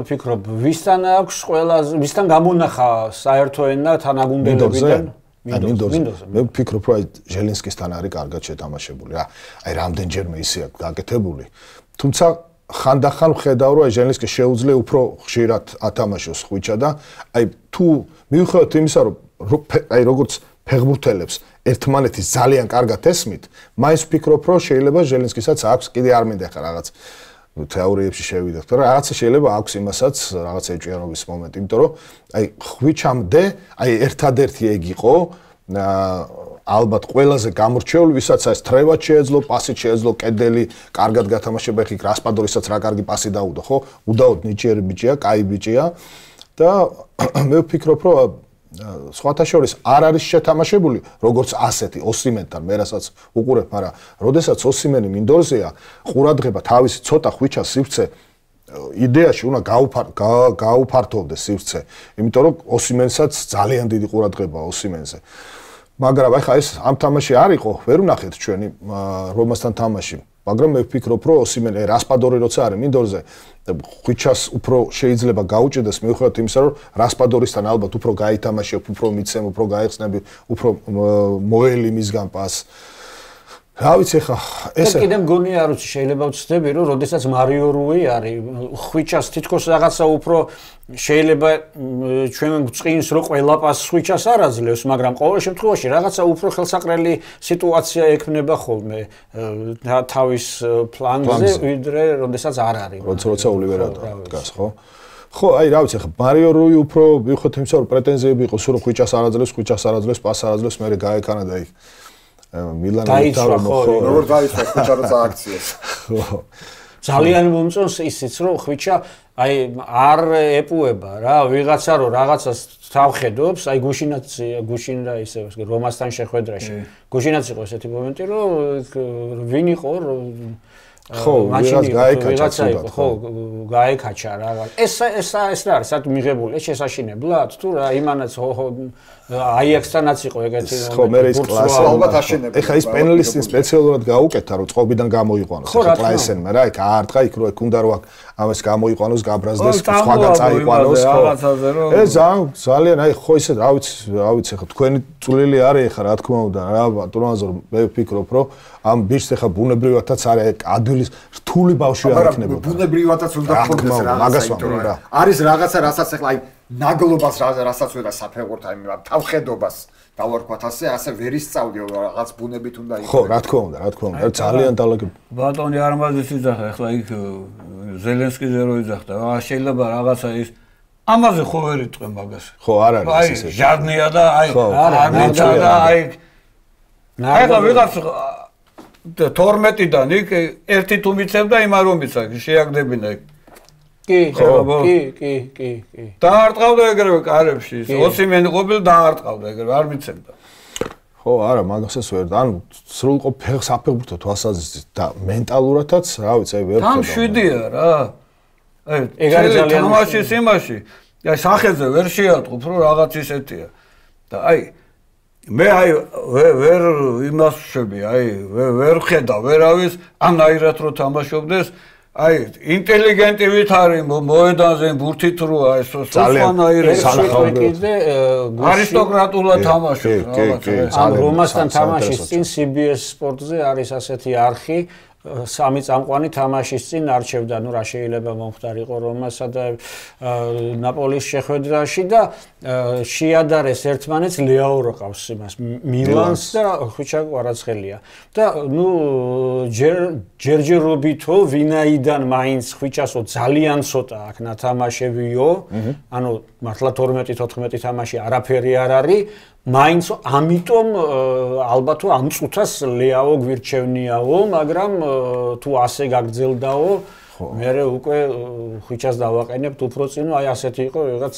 ფიქრობ ვისთან აქვს ყველაზე ვისთან გამონახა საერთო ენა თანაგუნდებიდან მინდორზე მე ვფიქრობ რომ ჟელინსკისთან არის კარგად შეთამაშებული რა აი რამდენჯერმე ისე აქვს გაკეთებული თუმცა ხანდახან ვხედავ რომ ჟელინსკი შეუძლია უფრო ხშირად ათამაშოს ხვიჩა და აი თუ მივხვდეთ იმისა რომ აი როგორც ფეხბურთელებს ერთმანეთის ძალიან კარგად ესმით მაინც ვფიქრობ რომ შეიძლება ჟელინსკისაც აქვს კიდე არ მინდა ხა რაღაც თეორიებში შევიდეთ, მაგრამ რაღაცა შეიძლება აქვს იმასაც რაღაც ეჭვიანობის მომენტი, იმიტომ რომ აი ხვიჩამდე აი ერთადერთი ეგ იყო ალბათ ყველაზე გამორჩეული, ვისაც ეს თრევად შეეძლო, პასით შეეძლო, კედელი, კარგად გათამაშება, ხი რასპადორისაც რა კარგი პასი დაუდო, ხო? უდაოდ ნიჭიერი ბიჭია, კაი ბიჭია და მე ვფიქრობ, რომ სხვათა შორის არ არის შეთამაშებული როგორც ასეთი ოსიმენთან მე რასაც უყურებ, მაგრამ როდესაც ოსიმენი მინდორზეა, ყურადღება თავისი ცოტა ხვიჩა სივრცე იდეაში უნდა გაუფართოვდეს სივრცე, იმიტომ რომ ოსიმენსაც ძალიან დიდი ყურადღება ოსიმენზე. მაგრამ ახლა ეს ამ თამაში არ იყო, ვერ ვნახეთ ჩვენი რომასთან თამაში. მაგრამ მე ვფიქრობ, რომ ოსიმენი რასპადორი როცა არის მინდორზე, ხვიჩას უფრო შეიძლება გაუჭდეს მიუხედავად იმისა, რომ რასპადორისთან ალბათ უფრო გაითამაშებ, უფრო მიცემ, უფრო გაიხსნები, უფრო მოელი მისგან პას. რა ვიცი ხა ეს კიდე მგონი არ ვიცი შეიძლება ვცდები რომ როდესაც მარიო რუი არის ხვიჩას თითქოს რაღაცა უფრო შეიძლება ჩვენ გვწყინს რომ ყველა პასს ხვიჩას არ აძლევს მაგრამ ყოველ შემთხვევაში რაღაცა უფრო ხელსაყრელი სიტუაცია ექმნება ხოლმე თავის ფლანგზე ვიდრე როდესაც არ არის როცა ოლივერა დგას ხო ხო აი რა ვიცი ხა მარიო რუი უფრო ვიხოთ იმისა რომ პრეტენზიები იყო სულ ხვიჩას არ აძლევს პასს არ აძლევს მე გაეკანა და იქ მილანის თავი ხო როგორ დაიწყო ხვიჩა როცა აქციას ხო ძალიან მომწონს ისიც რომ ხვიჩა აი არ ეპუება რა ვიღაცა რომ რაღაცას თავხედობს აი გუშინ რა ისე რომასთან შეხვედრაში გუშინაც იყო ესეთი მომენტი რომ ვინ იყო ხო ვიღაცა ხო გაეკაჩა რა ეს რა არის სად მიღებული ეს შესაშინებლად თუ რა იმანაც აიაქსთანაც იყო ეგეთი ხო მე ის კლასი ალბათ აშენებდა ეხა ის პენალისტი სპეციალურად გაუკეთა რომ წყობიდან გამოიყვანოს ეხა კლასენმა რა იქ აარტყა იქ რო უნდა რო ამას გამოიყვანოს გაბრაზდეს სხვაგან წაიყვანოს ხო ეს ძალიან აი ხო ისე რა ვიცი ეხა თქვენი წვლილი არის ეხა რა თქმა უნდა რა ბატონო მე ვფიქრობ რომ ამ ბიჭს ეხა ბუნებრივადაც არის ადვილის რთული ბავშვი არ იქნებოდა ბუნებრივადაც უნდა ხონდეს რაღაცა არის რაღაცა რასაც ეხლა აი ნაგლობას რასაც ვერა საფეხურთ აი თავხედობას დავარქვათ ასე ვერ ისწავლდიო რაღაც ბუნებით უნდა იყოს ხო რა თქმა უნდა ძალიან დალაგებ ბატონი არმაზის იძახა ეხლა იქ ზელენსკიზე რო იძახდა შეიძლება რაღაცა ის ამაზე ხო ვერ იტყვე მაგას ხო არ არის ესე ჟარნია და აი არ მიცა და აი ეხლა ვიღაც 12-დან იქ ერთი თუ მიცემ და იმ არ მომიცა შეაგდებინა იქ კი. დაარტყავდა ეგრევე კარებში. ოსიმენი ყოფილი დაარტყავდა ეგრევე არ მიცემდა. ხო, არა, მაგასაც ვერ. ანუ სრულყოფილ საფეხბურთო თვალსაზრისით და მენტალურადაც, რა ვიცი, აი ვერ ხედავ. 7-ია რა. აი, ეგ არის ძალიან თამაშის იმაში. აი, სახეზე ვერ შეატყობ, რომ რაღაც ისეთია. და აი მე აი ვერ იმას ვშვები, აი ვერ ხედავ, ვერავის ამნაირად რო თამაშობდეს. აი ინტელიგენტივით არის მოედანზე ბურთით რო აი სხვანაირი სანახაობდე არისტოკრატულად თამაშობს ან რომასთან თამაშის წინ CBS სპორტზე არის ასეთი არხი სამი წამყვანი თამაშის წინ არჩევდა ნუ რა შეიძლება მომხდარიყო რომასა და ნაპოლის შეხვედრაში და შეადარეს ერთმანეთს ლეაო რო ყავს იმას მილანს და ხვიჩა კვარაცხელია და ნუ ჯერჯერობითო ვინაიდან მაინც ხვიჩასო ძალიან ცოტა აქ ნათამაშებიო ანუ მართლა 12-14 თამაში არაფერი არ არის მაინც ამიტომ ალბათ ამ წუთას ლეაო გვირჩევნიაო მაგრამ თუ ასე გაგრძელდაო მე უკვე ხვიჩას დავაყენებთ უფრო წინ აი ასეთი იყო რაღაც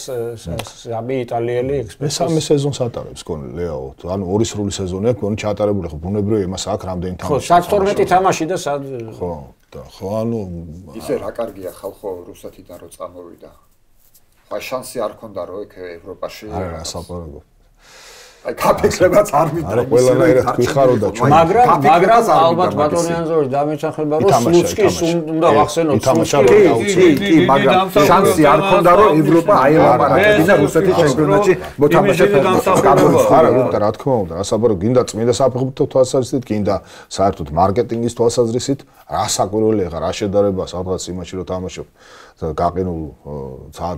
სამი იტალიელი ექსპერტი მესამე სეზონს ატარებს გონი ლეაო ანუ ორი სრული სეზონია გონი ჩაატარებული ხო ბუნებრივია იმას აქ რამდენი თამაში ხო 12 თამაში და სად ხო და ხო ანუ ისე რა კარგია ხალხო რუსეთიდან რო წამოვიდა ხა შანსი არ ქონდა რომ ეგ ევროპაში არა საპარაგო აი კაპექლებაც არ მიტა. არა ყველანაირად გვიხაროდა ჩვენ. მაგრამ ალბათ ბატონი ანზორი დამეთანხმება რომ სლუცკის უნდა ვახსენოთ კი, მაგრამ შანსი არ ქონდა რომ ევროპა აელაპარაკებინა და რუსეთის ჩემპიონატში მოთამაშეებს. არა, რა თქმა უნდა, ასაბარო გინდა წმინდა საფეხბურთო თვალსაზრისით, გინდა საერთოდ მარკეტინგის თვალსაზრისით, რა საკვირველია ხა, რა შედარება სადღაც იმაში რომ თამაშობ გაყინულ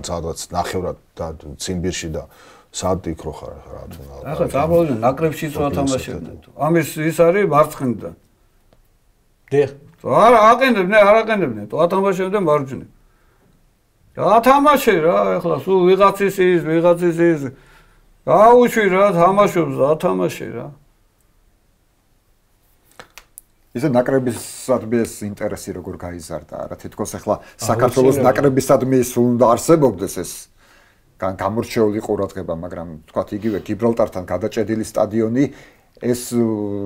სადღაც ნახევრად და ციმბირში და სად იქ რო ხარ რა თქმა უნდა. ახლა წამოვიდა ნაკრებშიც რა თამაშობდნენ. ამის ის არის მარცხნიდან. დიახ. არა, აყენებდნენ, თუ ათამაშებდნენ მარჯვნივ. რა თამაში რა, ახლა სულ ვიღაცის ის. გაუშვი რა, თამაშობს და ათამაში რა. ისე ნაკრებისადმი ეს ინტერესი როგორ გაიზარდა რა, თითქოს ახლა საქართველოს ნაკრებისადმი სულ უნდა არსებობდეს ეს გამორჩეული ყურადღება, მაგრამ თქვათ იგივე გიბრალტართან გადაჭედილი სტადიონი ეს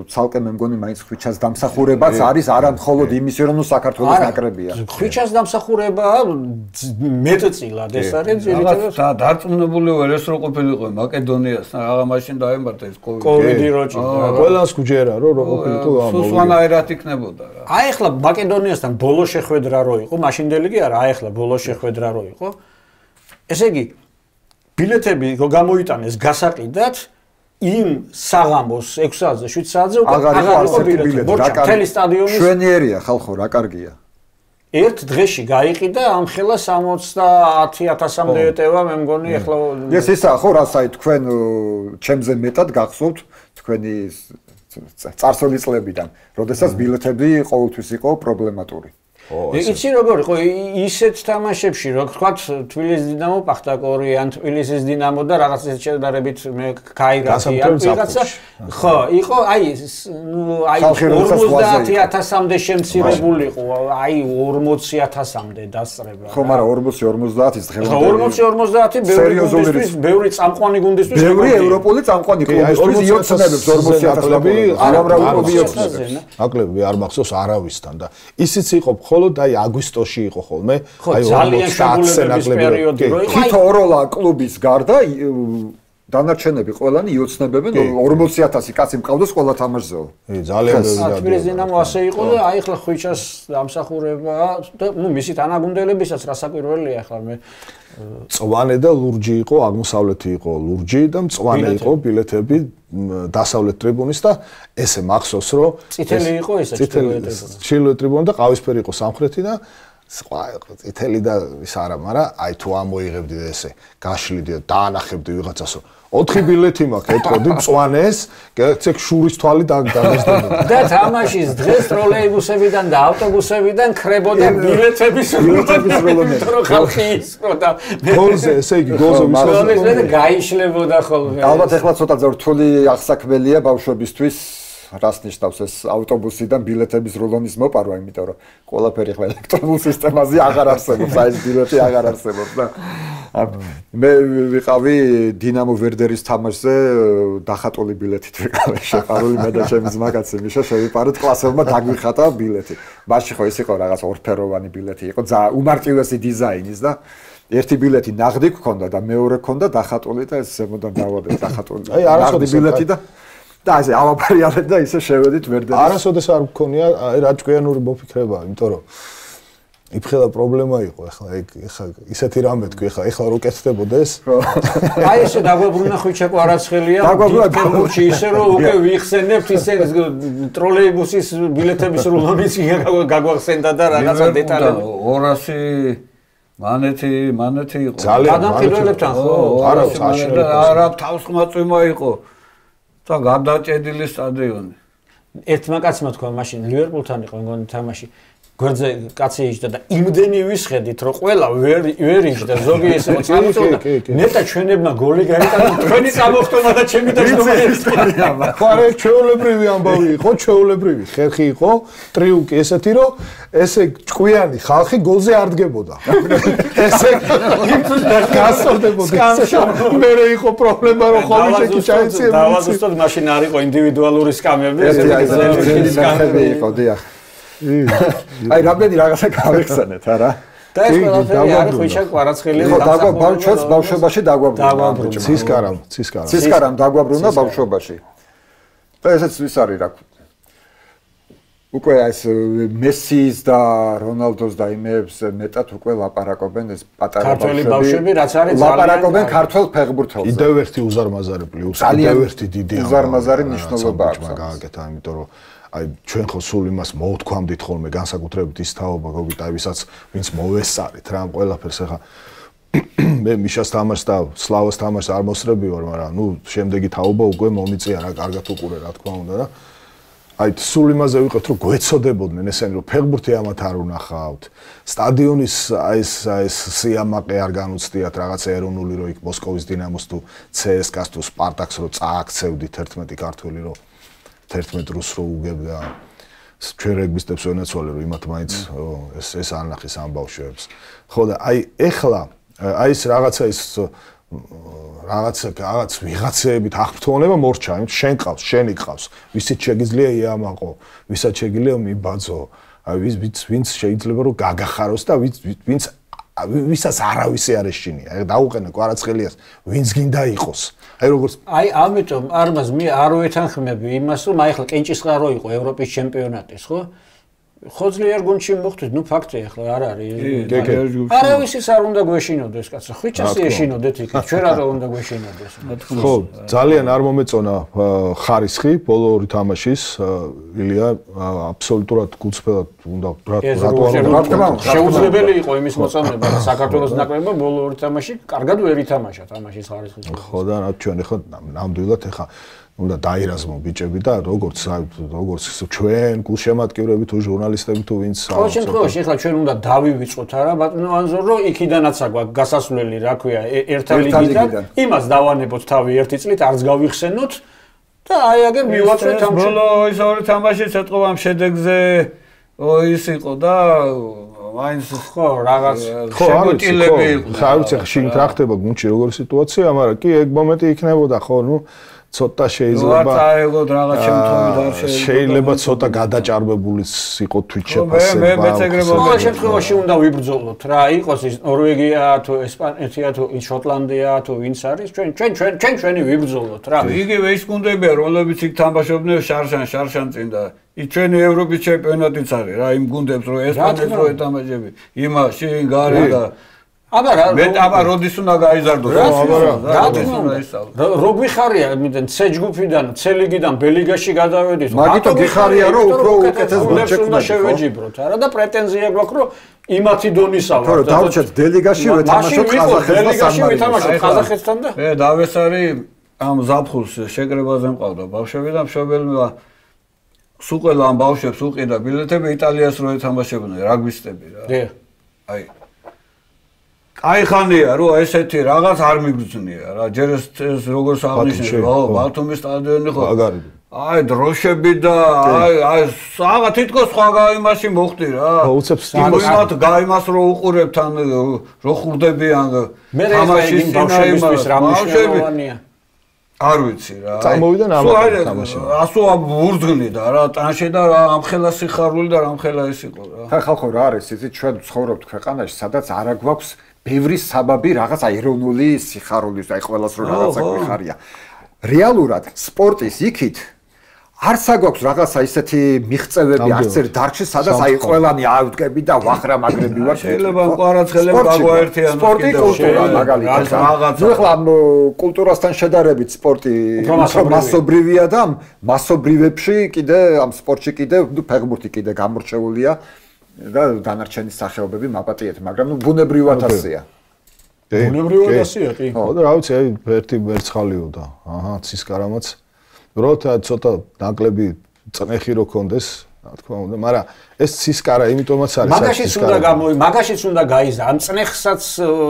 ცალკე მე მგონი მაინც ხვიჩას დამსახურებაც არის არა მხოლოდ იმის რომ საქართველოს ნაკრებია. ხვიჩას დამსახურებაა მეტწილად ეს არის ძირითადად დარწმუნებული ვარ ეს რო ყოფილიყო მაკედონიასთან რაღა მაშინ დაემართა ეს კოვიდი როჭი ყველას გუჯერა რო ყოფილიყო სუსვანაერად იქნებოდა რა. აი ახლა მაკედონიასთან ბოლო შეხვედრა რო იყო მაშინდელი კი არა აი ახლა ბოლო შეხვედრა რო იყო ესე იგი ბილეთები გამოიტანეს გასაყიდად იმ საღამოს 6 საათზე 7 საათზე აღარ იყო ბილეთი. მთელი სტადიონის შვენიერია ხალხო, რა კარგია. ერთ დღეში გაიყიდა ამ ხელა 70,000-მდე ეტევა, მე მგონი ახლა ეს ისა ხო რასაი თქვენ ჩემზე მეტად გახსოვთ თქვენი წარსული წლებიდან, როდესაც ბილეთები ყოველთვის იყო პრობლემატური. იცი როგორ იყო ისეთ თამაშებში რო თქვა თბილისის დინამო პახტაკორი ან თბილისის დინამო და რაღაც ეს შედარებით მე გაიგაცი ან ვიღაცა ხო იყო აი 50,000-მდე შემცირებული იყო აი 40,000-მდე დასწრება ხო მაგრამ 40-50-ის დღევანდელი 40-50 ბევრი წამყვანი გუნდისთვის ბევრი ევროპული წამყვანი კლუბისთვის იოცნებებს 40,000-ლები არამრავი იოცნებებს აკლები არ მახსოვს არავისთან და ისიც იყო და აი აგვისტოში იყო ხოლმე აი 40 პერიოდი რო იყო თითო ოროლა კლუბის გარდა დანარჩენები ყველანი იოცნებებენ 40,000 კაცი მყავდეს ყველა თამაშზეო ძალიან ბევრი თბილისის დინამო ასე იყო და აი ახლა ხვიჩას დამსახურება და ნუ მისი თანაგუნდელებისაც რასაკვირველია ახლა მე წვანე და ლურჯი იყო აღმოსავლეთი იყო ლურჯი და მწვანე იყო ბილეთები დასავლეთ ტრიბუნის და ესე მახსოვს რომ წითელი იყო ესე ჩრდილოეთ ტრიბუნი და ყავისფერი იყო სამხრეთი და სხვა წითელი და ის არა მაგრამ აი თუ ამოიღებდი ესე გაშლიდი და დაანახებდი ვიღაცასო 4 ბილეთი მაქვს ეთქოდი მწვანეს გეცეკ შურის თვალი დაგესდები და თამაშის დღეს ტროლეიბუსებიდან და ავტობუსებიდან ხრებოდა ბილეთების როლონები რო ხალხი ისრო და გოლზე ესე იგი გოლზე მისვლა და გაიშლებოდა ხოლმე ალბათ ახლა ცოტა რთული აღსაქმელია ბავშვებისთვის რას ნიშნავს ეს ავტობუსიდან ბილეთების როლონის მოპარვა, იმიტომ რომ ყველაფერი ახლა ელექტრონულ სისტემაზე აღარ არსებობს, აი ეს ბილეთი აღარ არსებობს და მე ვიყავი დინამო ვერდერის თამაშზე დახატული ბილეთით ვიყავი შეყარული მე და ჩემი ძმაკაცი მიშა შევიპარეთ კლასელმა დაგვიხატა ბილეთი. მაშინ ხო ის იყო რაღაც ორფეროვანი ბილეთი იყო, უმარტივესი დიზაინის და ერთი ბილეთი ნაღდი გქონდა და მეორე გქონდა დახატული და ეს ზემოდან დავადე დახატული. აი არასოდეს ბილეთი და ესე ავაპარიალეთ და ისე შევედით ვერდერის. არასოდეს არ მქონია აი რა ჭკვიანური მოფიქრება, იმიტომ რომ იფხელა პრობლემა იყო ახლა ისეთი რამე თქვი ახლა რო კეთდებოდეს აი ესე დაგვაბრუნა ხვიჩა კვარაცხელია ფეხბურთში ისე რომ უკვე ვიხსენებთ ისე ტროლეიბუსის ბილეთების რულონიც გაგვახსენდა და რაღაცა დეტალები 200 მანეთი იყო ადამიანებთან ხო არა თავსხმაწვიმა იყო და გადაჭედილი სტადიონი ერთმა კაცმა თქვა მაშინ ლივერპულთან იყო მგონი თამაში გვერდზე კაცი იჯდა და იმდენი ვისხედით რომ ყველა ვერ იჯდა ზოგი ესე მოწამწოდა ნეტა ჩვენებმა გოლი გაიტანა თქვენი წამოხტომა და ჩემი დაჟდომა ხარე ჩვეულებრივი ამბავი იყო ჩვეულებრივი ხერხი იყო ტრიუკი ესეთი რომ ესე ჭკვიანი ხალხი გოლზე არ დგებოდა ესე გასწორდებოდა მე იყო პრობლემა რომ ხოლმე ჩაეციებდა დავაზუსტოთ მაშინ არ იყო ინდივიდუალური სკამები ეს სკამები იყო დიახ აი რამდენი რაღაცა გავიხსენეთ არა და ეს ყველაფერი არის ხვიჩა კვარაცხელი ხო ბავშვებს ბავშვობაში დაგვაბრუნა ცისკარამ დაგვაბრუნა ბავშვობაში და ესეც ვის არის რა უკვე ეს მესის და რონალდოს და იმებს მეტად უკვე ლაპარაკობენ ეს პატარა ბავშვები რაც არის ლაპარაკობენ ქართულ ფეხბურთელზე კიდევ ერთი უზარმაზარი პლუს კიდევ ერთი დიდი უზარმაზარი მნიშვნელობა აქვს გააკეთა იმიტომ რომ აი ჩვენ ხო სულ იმას მოვთქვამდით ხოლმე განსაკუთრებით ის თაობა გოგიტაევისაც ვინც მოვესწარით რა ამ ყველაფერს ახლა მე მიშას თამაშს და სლავას თამაშს არ მოსწრები ვარ მაგრამ ნუ შემდეგი თაობა უკვე მომიწია რა კარგად უყურე რა თქმა უნდა და აი სულ იმაზე ვიყავთ რომ გვეცოდებოდნენ ესენი რომ ფეხბურთი ამათ არ უნახავთ სტადიონის აი ეს სიამაყე არ განუცდიათ რაღაც ეროვნული რო იქ მოსკოვის დინამოს თუ CSKA-ს თუ სპარტაკს რო წააქცევდით 11 ქართველი რო 11 რუს რო უგებდა ჩვენ რეგბისტებს ვენაცვალე რომ იმათ მაინც ეს ანახის ამ ბავშვებს ხო და აი ეხლა აი ეს რაღაცა ის რაღაც ვიღაცეებით აღფრთოვნება მორჩა იმ შენ ყავს შენი ყავს ვისიც შეგიძლია იამაყო ვისაც შეგიძლია მიბაძო აი ვინც შეიძლება რომ გაგახაროს და ვინც ვისაც არავისი არ ეშინია დაუყენე კვარაცხელიას ვინც გინდა იყოს აი როგორც აი ამიტომ არმაზ მე არ ვეთანხმები იმას რომ აი ხლა კენჭისყარო იყო ევროპის ჩემპიონატის ხო ხო ძლიერ გუნდში მოხდით, ნუ ფაქტია ახლა არ არის. არავის არ უნდა გვეშინოდეს, კაცო. ხვიჩას ეშინოდეთ იქ. ჩვენ რა უნდა გვეშინოდეს. ხო, ძალიან არ მომეწონა ხარისხი ბოლო ორი თამაშის. ილია აბსოლუტურად გულწრფელად უნდა რატო შეუძლებელი იყო იმის მოწონება და საქართველოს ნაკრებმა ბოლო ორი თამაში კარგად ვერ ითამაშა თამაშის ხარისხის. ხო და რა ჩვენ ახლა ნამდვილად ახლა უნდა დაირაზმო ბიჭები და როგორც ჩვენ გულშემატკივრები თუ ჟურნალისტები თუ ვინც ყოველ შემთხვევაში ახლა ჩვენ უნდა დავივიწყოთ არა ბატონო ანზორო იქიდანაც აქვს გასასვლელი რა ქვია ერთა ლიგიდან იმას დავანებოთ თავი ერთი წლით არც გავიხსენოთ და აი აგერ მივაწვეთ ამ ბოლო ის ორი თამაშიც ეთყობა ამ შედეგზე ის იყო და მაინც ხო რაღაც შემოტილები იყო ხა ვიცი შინ რა ხდება გუნდში როგორი სიტუაცია მაგრამ კი ეგ მომენტი იქნებოდა ხო ნუ ცოტა შეიძლება შეიძლება ცოტა გადაჭარბებულიც იყო თვით შეფასება. მე მეცეგრებო ყოველ შემთხვევაში უნდა ვიბრძოლოთ რა იყოს ის ნორვეგია თუ ესპანეთი თუ შოტლანდია თუ ვინც არის ჩვენი ვიბრძოლოთ რა. იგივე ის გუნდებია რომლებიც იქ თამაშობდნენ შარშან წინ და ჩვენი ევროპის ჩემპიონატიც არის რა იმ გუნდებს რო ესპანეთს რო ეთამაშები იმაში გარე და აბა როდის უნდა გაიზარდოს რო გვიხარია იმიდან C ჯგუფიდან C ლიგიდან B ლიგაში გადავედით მაგითო გიხარია რომ უფრო უკეთეს გუნდში უნდა შევეჯიბროთ არა და პრეტენზია გვაქვს რომ იმათი დონისა ვარ და დავუჩეთ D ლიგაში ვეთამაშოთ ყაზახეთთან და მე დავესარი ამ ზაფხულს შეკრებაზე მყავდა ბავშვები და მშობელმა სულ ამ ბავშვებს უყიდა ბილეთები იტალიას რო ეთამაშებდნენ რაგბისტები რა აი აი ხანია რომ ესეთი რაღაც არ მიგრძნია რა ჯერ ეს როგორც აღნიშნე ხო ბათუმის სტადიონი ხო აი დროშები და აი საღა თითქოს სხვა გაიმაში მოხდი რა იმათ გაიმას რო უყურებთ ან რო ხურდებიან თამაშის ბავშვებისთვის რა მნიშვნელოვანია არ ვიცი რა წამოვიდან ამ თამაში ასო ვურძგნიდა რა ტანში და რა ამხელა სიხარული და რამხელა ის იყო რა ხალხო რა არის იცით ჩვენ ცხოვრობთ ქვეყანაში სადაც არა გვაქვს ბევრი საბაბი რაღაც ეროვნული სიხარულის აი ყველას რო რაღაცა გვიხარია რეალურად სპორტის იქით არც აგვაქვს რაღაცა ისეთი მიღწევები არც ერთ დარგში სადაც აი ყველანი ავდგები და ვახრა მაგრები ვარ შეიძლება მყარაცხელებ გაგვაერთიანოს სპორტი კულტურა მაგალითად რაღაცა ნუ ახლა კულტურასთან შედარებით სპორტი მასობრივია და მასობრივებში კიდე ამ სპორტში კიდე ფეხბურთი კიდე გამორჩეულია და დანარჩენი სახეობები მაპატიეთ, მაგრამ ნუ ბუნებრივად ასეა. ბუნებრივად ასეა, კი. ხო და რა ვიცი, აი ერთი მერცხალიო და აჰა, ცისკარამაც. როცა ცოტა ნაკლები წნეხი რო კონდეს, რა თქმა უნდა, მაგრამ ეს ცისკარა იმიტომაც არის. მაგაშიც უნდა გაიზა, ამ წნეხსაც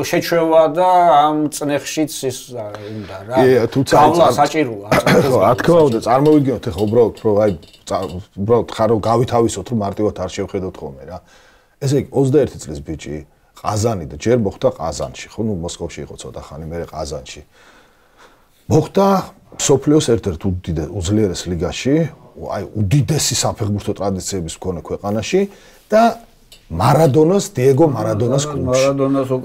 შეჩვევა და ამ წნეხშიც ის უნდა რა. გავლა საჭიროა. ხო, რა თქმა უნდა, წარმოვიდგინოთ ახლა უბრალოდ რომ აი უბრალოდ ხარო გავითავისოთ რომ მარტივად არ შევხედოთ ხოლმე რა. ესე იგი 21 წლის ბიჭი ყაზანი და ჯერ მოხდა ყაზანში, ხო, ნუ მოსკოვში იყო ცოტა ხანი, მე ყაზანში. მოხდა სოფლიოს ერთ-ერთ უძლიერეს ლიგაში, აი უდიდესი საფეხბურთო ტრადიციების მქონე ქვეყანაში და მარადონას, დიეგო მარადონას კლუბში.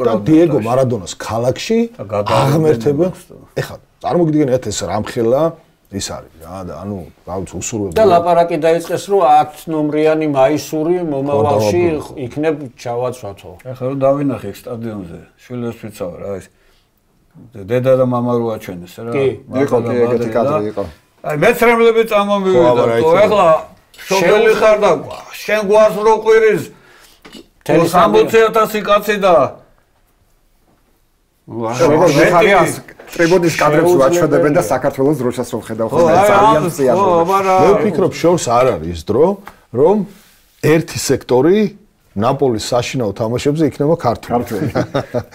და დიეგო მარადონას ქალაქში აღმერთებენ. ეხლა წარმოგიდგენთ ეს რამხელა ის არის რა და ანუ რაღაც უსურვებელი. და ლაპარაკი დაიწყეს რომ 10 ნომრიანი მაისური მომავალში იქნებ ჩავაცვათო. ეხლა რომ დავინახე სტადიონზე, შვილებს ვიცავ რა ის დედა და მამა რო აჩვენეს რა. იყო ეგეთი კადრი იყო. აი მეცრემლები წამომივიდა. ეხლა შობელი ხარ და შენ გვარს რო ყვირის 60,000 კაცი და შეგეხარიას ტრიბუნის კადრებს ვაჩვენებენ და საქართველოს დროშას რომ ხედავ ხოლმე ძალიან სიამოვნებაა. მე ვფიქრობ შორს არ არის დრო რომ ერთი სექტორი ნაპოლის საშინაო თამაშებზე იქნება ქართული.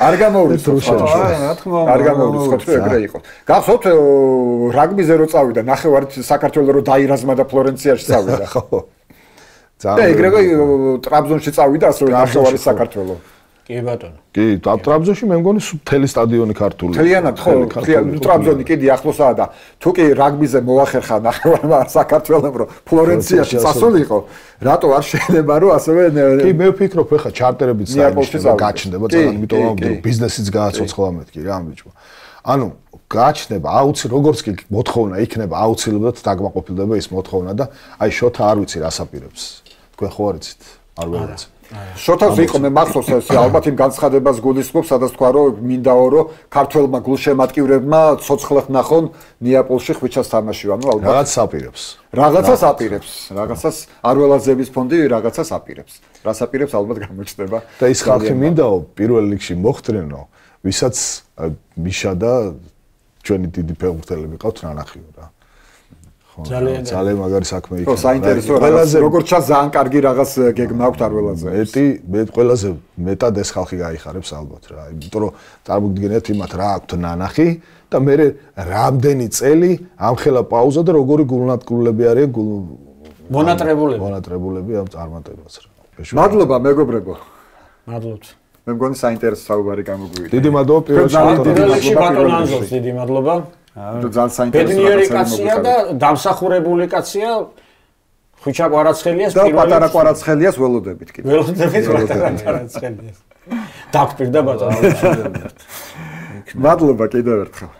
არ გამოუვლის დროშაში. რა თქმა უნდა. არ გამოუვლის ხო ეგრე იყო. გახსოვთ რაგბიზე რო წავიდა ნახევარით საქართველოს რო დაირაზმა და ფლორენციაში წავიდა. ხო. და ეგრევე ტრაბზონში წავიდა ასე რომ ნახევარი საქართველოს. კი ბატონო. კი, ტრაბზონში მე მგონი მთელი სტადიონი ქართული. მთლიანად ხო, ტრაბზონი კიდე ახლოსაა და თუ კი რაგბიზე მოახერხა ნახევარმა საქართველოს რომ ფლორენციაში წასულიყო, რატო არ შეიძლება რომ ასევე კი მე ვფიქრობ ხა ჩარტერებით გაჩნდება ძალიან, იმიტომ რომ ბიზნესიც გააცოცხლა მეთქი რა ამ ბიჭმა. ანუ გაჩნდება აუცი როგორც კი მოთხოვნა იქნება აუცილებლად დაგმაყოფილდება ის მოთხოვნა და აი შოთა არ ვიცი რას აპირებს. თქვენ ხო არიცით? არ ვეღაცით. შოთავს იყო მე მახსოვს ეს ალბათ იმ განცხადებას გულისხმობს, სადაც თქვა რომ მინდაო რომ ქართველმა გულშემატკივრებმა ცოცხლად ნახონ ნეაპოლში ხვიჩას თამაში, ანუ ალბათ რაღაც აპირებს. რაღაცას აპირებს, რაღაცას არველაძეების ფონდი რაღაცას აპირებს. რას აპირებს ალბათ გამოჩნდება. და ის ხალხი მინდაო პირველ რიგში მოხდრენო, ვისაც მიშა და ჩვენი დიდი ფეხბურთელები ყავთ ნანახიო რა. ძალიან მაგარი საქმე იქნება. ხო, საინტერესო როგორც ჩანს ძალიან კარგი რაღაც გეგმა აქვს არველაძე. მე ყველაზე მეტად ეს ხალხი გაიხარებს ალბათ რა. იმიტომ რომ წარმოგიდგენთ იმათ რა აქვთ ნანახი და მე რამდენი წელი ამხელა პაუზა და როგორი გულნატკულები არიან მონატრებულები ამ წარმატებას რა. მადლობა მეგობრებო. მადლობთ. მე მგონი საინტერესო საუბარი გამოგვივიდა. დიდი მადლობა პირველში ბატონ ანზორს დიდი მადლობა. ძალიან საინტერესო ბედნიერი კაცია და დამსახურებული კაცია. ხვიჩა კვარაცხელიას პირველი და პატარა კვარაცხელიას ველოდებით კიდე. ველოდებით პატარა კვარაცხელიას. დაგპირდა ბატონო. მადლობა კიდევ ერთხელ.